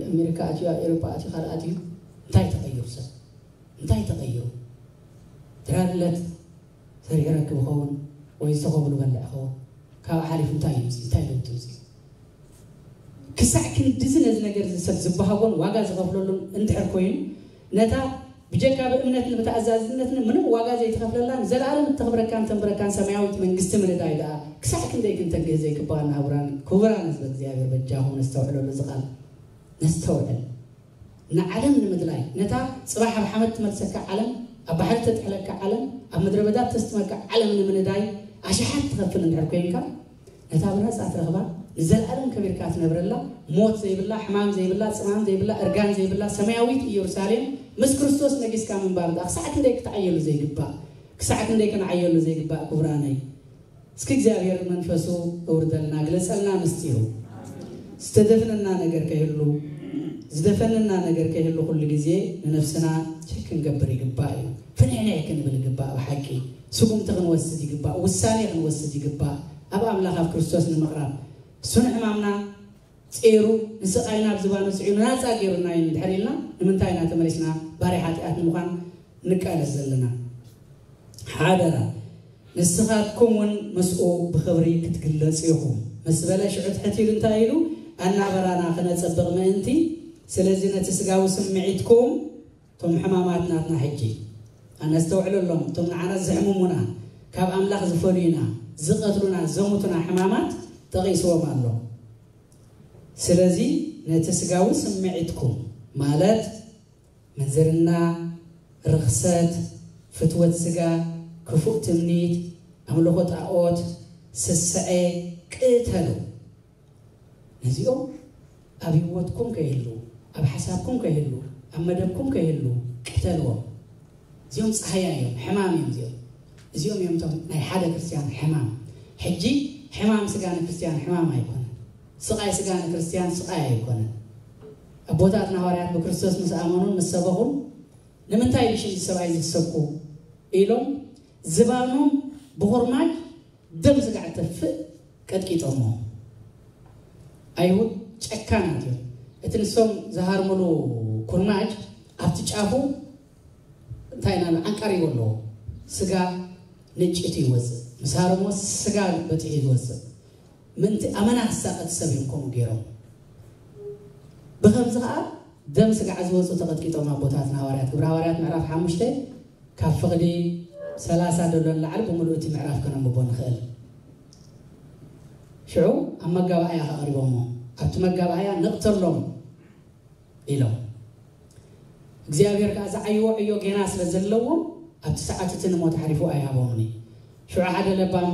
ኣሜሪካ ኣትዩ፣ ኣብ ኤውሮጳ ኣትዩ፣ ካልእ ኣትዩ፣ እንታይ ተቐይሩ ሰብ? እንታይ ተቐይሩ? ድራርለት ሰሪሑ ረክብ ይኸውን ወይ ዝተኸብሉ በልዕ ይኸውን? ካብ ሓሊፉ እንታይ ይምፅ? እንታይ ለውጢ ይምፅ? ክሳዕ ክንድዚ ነዚ ነገር እዚ ሰብ ዝበሃጎን ዋጋ ዝኸፍለሉን እንድሕር ኮይኑ፣ ነታ ብጀካ ብእምነትን ብተኣዛዝነትን ምንም ዋጋ ዘይትኸፍለላን ዘለኣለም እተኽብረካን ተንብረካን ሰማያዊት መንግስቲ ምንዳይ ደኣ ክሳዕ ክንደይ ክንተግህ ዘይግባእ ናብራን ክቡራን ህዝበ እግዚኣብሔር። በጃኹም ነስተውዕለሉ፣ እዚ ቃል ነስተውዕል። ንዓለም ንምድላይ፣ ነታ ጽባሕ ኣብ ሓመድ ትመልሰካ ዓለም፣ ኣብ ባሕሪ ተጥሕለካ ዓለም፣ ኣብ ምድረ በዳ ተስትመካ ዓለም ንምንዳይ ኣሽሓት ትኸፍል እንድሕር ኮይንካ፣ ነታ ብነጻ ትረኽባ፣ ንዘለኣለም ከቢርካ ትነብረላ፣ ሞት ዘይብላ፣ ሕማም ዘይብላ፣ ጽማም ዘይብላ፣ እርጋን ዘይብላ ሰማያዊት ኢየሩሳሌም ምስ ክርስቶስ ነጊስካ ምንባር ደኣ ክሳዕ ክንደይ ክትዓየሉ ዘይግባእ፣ ክሳዕ ክንደይ ክንዓየሉ ዘይግባእ ክቡራነይ። እስኪ እግዚኣብሔር መንፈሱ እውርደልና፣ ግለጸልና ምስጢሩ። ዝተደፍነና ነገር ከይህሉ፣ ዝደፈነና ነገር ከይህሉ ኩሉ ግዜ ንነፍስና ቸክ ክንገብር ይግባእ እዩ። ፍንሕንሕ ክንብል ይግባእ። ብሓቂ ስጉምቲ ክንወስድ ይግባእ። ውሳኔ ክንወስድ ይግባእ። ኣብ ኣምላኽ ኣብ ክርስቶስ ንምቕራብ፣ እሱ ንሕማምና ጼሩ፣ ንስቓይና ኣብ ዝባኑ ጽዒኑ ናጻ ገይሩና እዩ እንድሕር ኢልና፣ ንምንታይ ኢና ተመሊስና ባርያ ሓጢኣት ንምዃን ንቃለስ ዘለና? ሓደራ፣ ንስኻትኩም እውን ምስኡ ብኽብሪ ክትግለጹ ኢኹም። ምስ በለ ሽዑ ትሕት ኢሉ እንታይ ኢሉ? ኣናበራና ክነጸብቕ ምእንቲ። ስለዚ ነቲ ስጋዊ ስምዒትኩም፣ እቶም ሕማማት ናትና ሕጂ ኣነስተውዕለሎም፣ እቶም ንዓና ዘሕምሙና፣ ካብ ኣምላኽ ዝፈልዩና፣ ዝቐትሉና፣ ዘሙቱና ሕማማት ጠቒስዎም ኣሎ። ስለዚ ነቲ ስጋዊ ስምዒትኩም፣ ማለት ምንዝርና፣ ርኽሰት፣ ፍትወት ስጋ፣ ክፉእ ትምኒት፣ ኣምልኾ ጣዖት፣ ስስዐ፣ ቅተሉ። ነዚኦም ኣብ ህይወትኩም ከይህሉ፣ ኣብ ሓሳብኩም ከይህሉ፣ ኣብ መደብኩም ከይህሉ ቅተልዎም። እዚኦም ጸሃያ እዮም፣ ሕማም እዮም እዚኦም። እዚኦም እዮም እቶም ናይ ሓደ ክርስትያን ሕማም። ሕጂ ሕማም ስጋ ንክርስትያን ሕማም ኣይኮነን። ስቓይ ስጋ ንክርስትያን ስቓይ ኣይኮነን። ኣቦታትና ሃዋርያት ብክርስቶስ ምስ ኣመኑን ምስ ሰበኹን፣ ንምንታይ ብሽም እዚ ሰብኣይ እዚ ትሰብኩ ኢሎም ዝባኖም ብኹርማጅ ደም ስጋዕ ተፍእ ቀጥቂጦሞ። ኣይሁድ ጨካናት እዮም። እቲ ንሶም ዝሃርምሉ ኩርማጅ ኣብቲ ጫፉ እንታይ ኢና ዓንቃሪቦ ኣለዎ። ስጋ ንጭት ይወፅእ። ምስ ሃረሞ ስጋ በፂሑ ይወፅእ። ምእንቲ ኣመና ክሳቐት ሰብ እዮም ከምኡ ገይሮም። ብኸምዚ ከዓ ደም ስጋዕ ዝወፁ ተቐጥቂጦም ኣቦታትና ሃዋርያት። ግብረ ሃዋርያት ምዕራፍ ሓሙሽተ ካብ ፍቕዲ ሰላሳ ዘሎ ንላዕሊ ብምሉእ እቲ ምዕራፍ ከነንብቦ ንኽእል። ሽዑ ኣብ መጋባእያ ከቕሪቦሞ፣ ኣብቲ መጋባእያ ንቕተሎም ኢሎም። እግዚኣብሔር ከዓ ዝዓይዎ ዕዮ ጌና ስለ ዘለዎም ኣብቲ ሰዓት እቲ ንሞት ሓሪፉ ኣይሃቦምን እዩ። ሽዑ ሓደ ለባም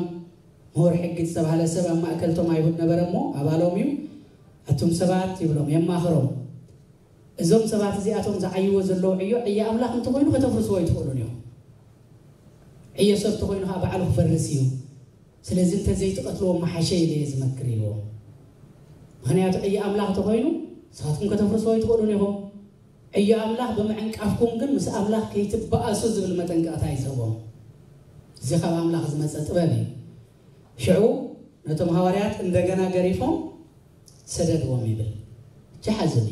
ምሁር ሕጊ ዝተባህለ ሰብ ኣብ ማእከል እቶም ኣይሁድ ነበረ እሞ ኣባሎም እዩ። ኣቱም ሰባት ይብሎም፣ የማኽሮም። እዞም ሰባት እዚኣቶም ዝዓይዎ ዘለዉ ዕዮ ዕዮ ኣምላኽ እንተኾይኑ ከተፍርስዎ ኣይትኽእሉን እዮም። ዕዮ ሰብ እንተኾይኑ ከዓ ባዕሉ ክፈርስ እዩ። ስለዚ እንተዘይትቐትልዎም ምሓሸ ኢለ እየ ዝመክር ኢልዎም። ምኽንያቱ ዕዮ ኣምላኽ እንተኾይኑ ንስኻትኩም ከተፍርስዎ ኣይትኽእሉን ኢኹም። ዕዮ ኣምላኽ ብምዕንቃፍኩም ግን ምስ ኣምላኽ ከይትበኣሱ ዝብል መጠንቀቕታ እዩ ዝህቦም። እዚ ካብ ኣምላኽ ዝመፀ ጥበብ እዩ። ሽዑ ነቶም ሃዋርያት እንደገና ገሪፎም ሰደድዎም ይብል። ጀሓዝኒ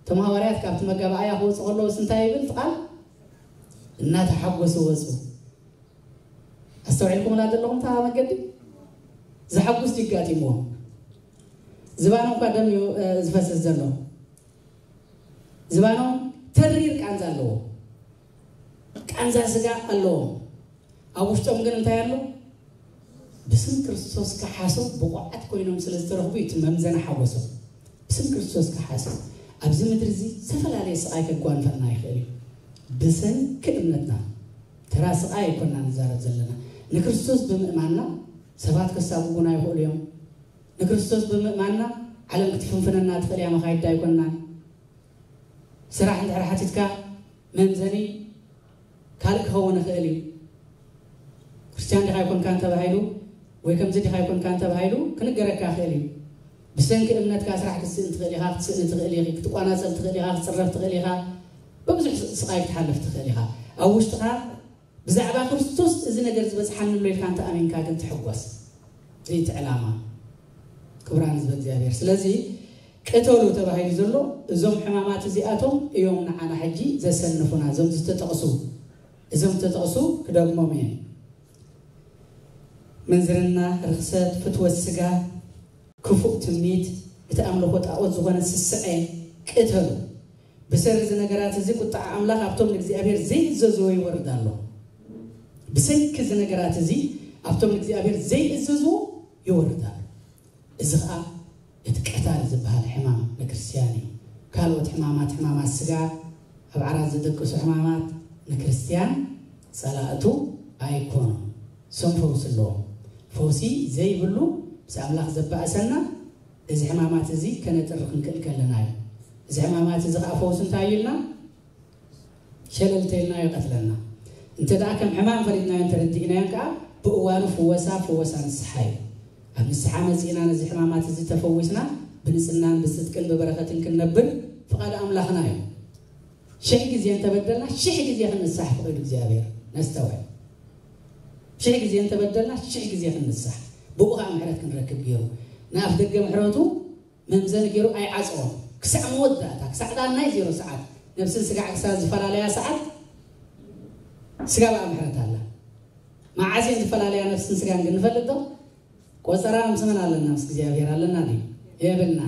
እቶም ሃዋርያት ካብቲ መጋባእያ ክወፁ ከለዎስ እንታይ ይብል እቲ ቃል? እናተሓጎሱ ወፁ። ኣስተውዒልኩምላ ዘለኹም እታ መገዲ? ዝሓጉስ ይጋጢምዎም። ዝባኖም እኳ ደም እዩ ዝፈስስ ዘሎ። ዝባኖም ተሪር ቃንዛ ኣለዎ። ቃንዛ ስጋ ኣለዎም። ኣብ ውሽጦም ግን እንታይ ኣሎ? ብስም ክርስቶስ ክሓሱ ብቑዓት ኮይኖም ስለ ዝተረኽቡ እዩ እቲ መምዘኒ ሓጎሶም። ብስም ክርስቶስ ክሓሱ። ኣብዚ ምድሪ እዚ ዝተፈላለየ ስቓይ ከጓንፈና ይኽእል እዩ። ብሰንኪ እምነትና ተራ ስቓይ ኣይኮና ንዛረብ ዘለና። ንክርስቶስ ብምእማንና ሰባት ከሳጉጉና ይኽእሉ እዮም። ንክርስቶስ ብምእማንና ዓለም ክትፍንፍነና ትኽእል እያ፣ መኻይዳ ኣይኮናን። ስራሕ እንድሕር ሓቲትካ መምዘኒ ካልእ ክኸውን ይኽእል እዩ። ክርስትያን ዲኻ ኣይኮንካን ተባሂሉ ወይ ከምዚ ዲኻ ኣይኮንካን ተባሂሉ ክንገረካ ይኽእል እዩ። ብሰንኪ እምነትካ ስራሕ ክትስእን ትኽእል ኢኻ፣ ክትስእኒ ትኽእል ኢኺ፣ ክትቋናጸል ትኽእል ኢኻ፣ ክትጽረፍ ትኽእል ኢኻ፣ ብብዙሕ ስቓይ ክትሓልፍ ትኽእል ኢኻ። ኣብ ውሽጥኻ ብዛዕባ ክርስቶስ እዚ ነገር ዝበጽሓኒ ኣሎ ኢልካ እንተ ኣሚንካ ግን ትሕጎስ። እዚ እቲ ዕላማ። ክቡራን ህዝበ እግዚኣብሔር። ስለዚ ቅተሉ ተባሂሉ ዘሎ እዞም ሕማማት እዚኣቶም እዮም ንዓና ሕጂ ዘሰንፉና። እዞም ዝተጠቕሱ፣ እዞም ዝተጠቕሱ ክደግሞም እየ። ምንዝርና፣ ርኽሰት፣ ፍትወት ስጋ፣ ክፉእ ትምኒት፣ እቲ ኣምልኾ ጣዖት ዝኾነ ስስዐ ቅተሉ። ብሰሪ እዚ ነገራት እዚ ቁጥዓ ኣምላኽ ኣብቶም ንእግዚኣብሔር ዘይእዘዝዎ ይወርድ ኣሎ። ብሰንኪ እዚ ነገራት እዚ ኣብቶም ንእግዚኣብሔር ዘይእዘዝዎ ይወርድ ኣሎ። እዚ ኸዓ እቲ ቀታል ዝበሃል ሕማም ንክርስትያን እዩ። ካልኦት ሕማማት፣ ሕማማት ስጋ፣ ኣብ ዓራት ዝድቅሱ ሕማማት ንክርስትያን ጸላእቱ ኣይኮኑን። እሶም ፈውሲ ኣለዎም። ፈውሲ ዘይብሉ ምስ ኣምላኽ ዘባእሰና እዚ ሕማማት እዚ ከነጥሪ ክንክእል ከለና እዩ። እዚ ሕማማት እዚ ኸዓ ፈውሲ እንታይ እዩ ኢልና ሸለልተልና ይቐትለና። እንተ ደኣ ከም ሕማም ፈሊጥናዮን ተረዲእናዮን ከኣ ብእዋኑ ፍወሳ፣ ፍወሳ ንስሓ እዩ። ኣብ ንስሓ መጺእና ነዚ ሕማማት እዚ ተፈዊስና ብንጽናን ብጽድቅን ብበረኸትን ክንነብር ፍቓድ ኣምላኽና እዩ። ሽሕ ግዜ እንተበደልና ሽሕ ግዜ ክንንሳሕ ፍቕድ እግዚኣብሔር ነስተውዕል። ሽሕ ግዜ እንተበደልና ሽሕ ግዜ ክንንሳሕ ብኡ ከዓ ምሕረት ክንረክብ ገይሩ ንኣፍ ደገ ምሕረቱ መምዘኒ ገይሩ ኣይዓጽዎን። ክሳዕ መወዳእታ፣ ክሳዕ ዳናይ ዜሮ ሰዓት፣ ነብስን ስጋዕ ክሳብ ዝፈላለያ ሰዓት ስጋ ብኣ ምሕረት ኣላ። መዓስ እየን ዝፈላለያ ነብስን ስጋን ግን ንፈልጥ ዶ? ቆጸራ ምስ መን ኣለና? ምስ እግዚኣብሔር ኣለና ድዩ? የብልና።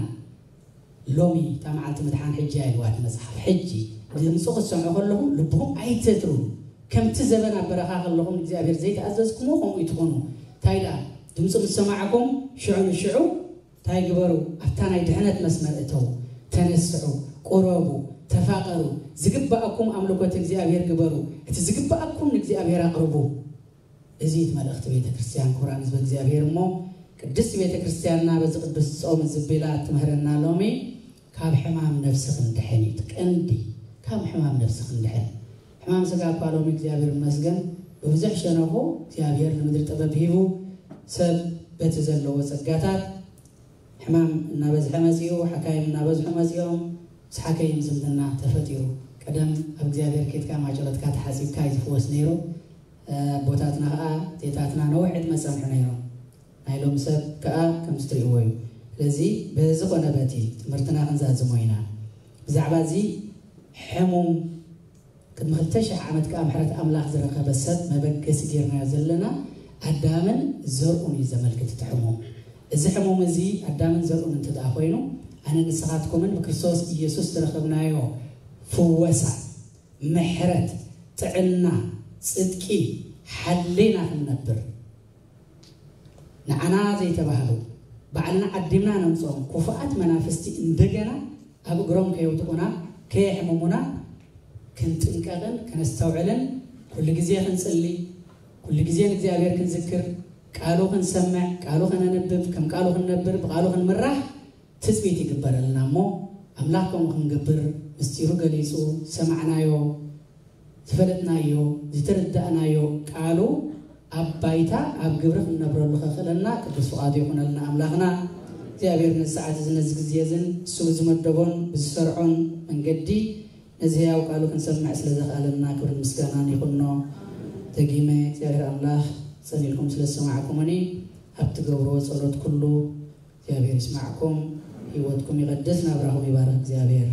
ሎሚ እታ መዓልቲ ምድሓን ሕጂ እያ ኢልዋ እቲ መጽሓፍ። ሕጂ ድምፁ ክትሰምዑ ከለኹም ልብኹም ኣይተትርሩ። ከምቲ ዘበን ኣብ በረኻ ከለኹም እግዚኣብሔር ዘይተኣዘዝኩምዎ ከምኡ ይትኾኑ። እንታይ ደኣ ድምፁ ምስ ሰማዕኩም ሽዑ ንሽዑ እንታይ ግበሩ? ኣብታ ናይ ድሕነት መስመር እተው፣ ተነስሑ፣ ቁረቡ፣ ተፋቐሩ፣ ዝግባኣኩም ኣምልኮት እግዚኣብሔር ግበሩ፣ እቲ ዝግባኣኩም ንእግዚኣብሔር ኣቕርቡ። እዚ እቲ መልእኽቲ ቤተ ክርስቲያን። ክቡራን ህዝበ እግዚኣብሔር፣ እሞ ቅድስቲ ቤተ ክርስቲያንና በዚ ቅዱስ ጾም ዝቢላ ትምህረና ሎሚ ካብ ሕማም ነፍሲ ክንድሕን እዩ እቲ ቀንዲ። ካብ ሕማም ነፍሲ ክንድሕን። ሕማም ስጋ እኳ ሎሚ እግዚኣብሔር ይመስገን ብብዙሕ ሸነኹ እግዚኣብሔር ንምድሪ ጥበብ ሂቡ ሰብ በቲ ዘለዎ ጸጋታት ሕማም እናበዝሐ መጺኡ፣ ሓካይም እናበዝሑ መጺኦም፣ ምስ ሓከይም ዝምድና ተፈጢሩ። ቀደም ኣብ እግዚኣብሔር ኬድካ ማጨሎትካ ተሓጺብካ እዩ ዝፍወስ ነይሩ። ኣቦታትና ኸዓ ዜታትና ነዊሕ ዕድመ ጸንሑ ነይሮም። ናይ ሎም ሰብ ከኣ ከምዚ ትርእይዎ እዩ። ስለዚ በዚ ኾነ በቲ ትምህርትና ክንዛዝሞ ኢና። ብዛዕባ እዚ ሕሙም ቅድሚ ክልተ ሽሕ ዓመት ከኣ ምሕረት ኣምላኽ ዝረኸበ ሰብ መበገሲ ጌርናዮ ዘለና ኣዳምን ዘርኡን እዩ ዘመልክት እቲ ሕሙም። እዚ ሕሙም እዚ ኣዳምን ዘርኡን እንተ ደኣ ኮይኑ ኣነ ንስኻትኩምን ብክርስቶስ ኢየሱስ ዝረኸብናዮ ፍወሳ፣ ምሕረት፣ ጥዕና፣ ጽድቂ ሓሌና ክንነብር ንዓና ዘይተባህሉ ባዕልና ዓዲምና ነምፅኦም ክፉኣት መናፍስቲ እንደገና ኣብ እግሮም ከየውድቑና ከየሕምሙና ክንጥንቀቕን ከነስተውዕልን ኩሉ ግዜ ክንፅሊ ኩሉ ግዜ ንእግዚኣብሔር ክንዝክር ቃሉ ክንሰምዕ ቃሉ ከነንብብ ከም ቃሉ ክንነብር ብቃሉ ክንምራሕ ትፅቢት ይግበረልና እሞ ኣምላኽ ከምኡ ክንገብር ምስጢሩ ገሊፁ ዝሰማዕናዮ ዝፈለጥናዮ ዝተረዳእናዮ ቃሉ ኣብ ባይታ ኣብ ግብሪ ክንነብረሉ ከኽእለና ቅዱስ ፍቓዱ ይኹነልና ኣምላኽና እግዚኣብሔር ነዚ ሰዓት እዚ ነዚ ግዜ እዝን እሱ ብዝመደቦን ብዝሰርዖን መንገዲ ነዚ ህያው ቃሉ ክንሰምዕ ስለ ዘኽኣለና ክብርን ምስጋናን ይኹኖ። ደጊመ እግዚኣብሔር ኣምላኽ ጸኒልኩም ስለ ዝሰማዕኩምኒ ኣብ ትገብርዎ ጸሎት ኩሉ እግዚኣብሔር ይስማዕኩም፣ ህይወትኩም ይቐድስ፣ ናብራኹም ይባርኽ እግዚኣብሔር።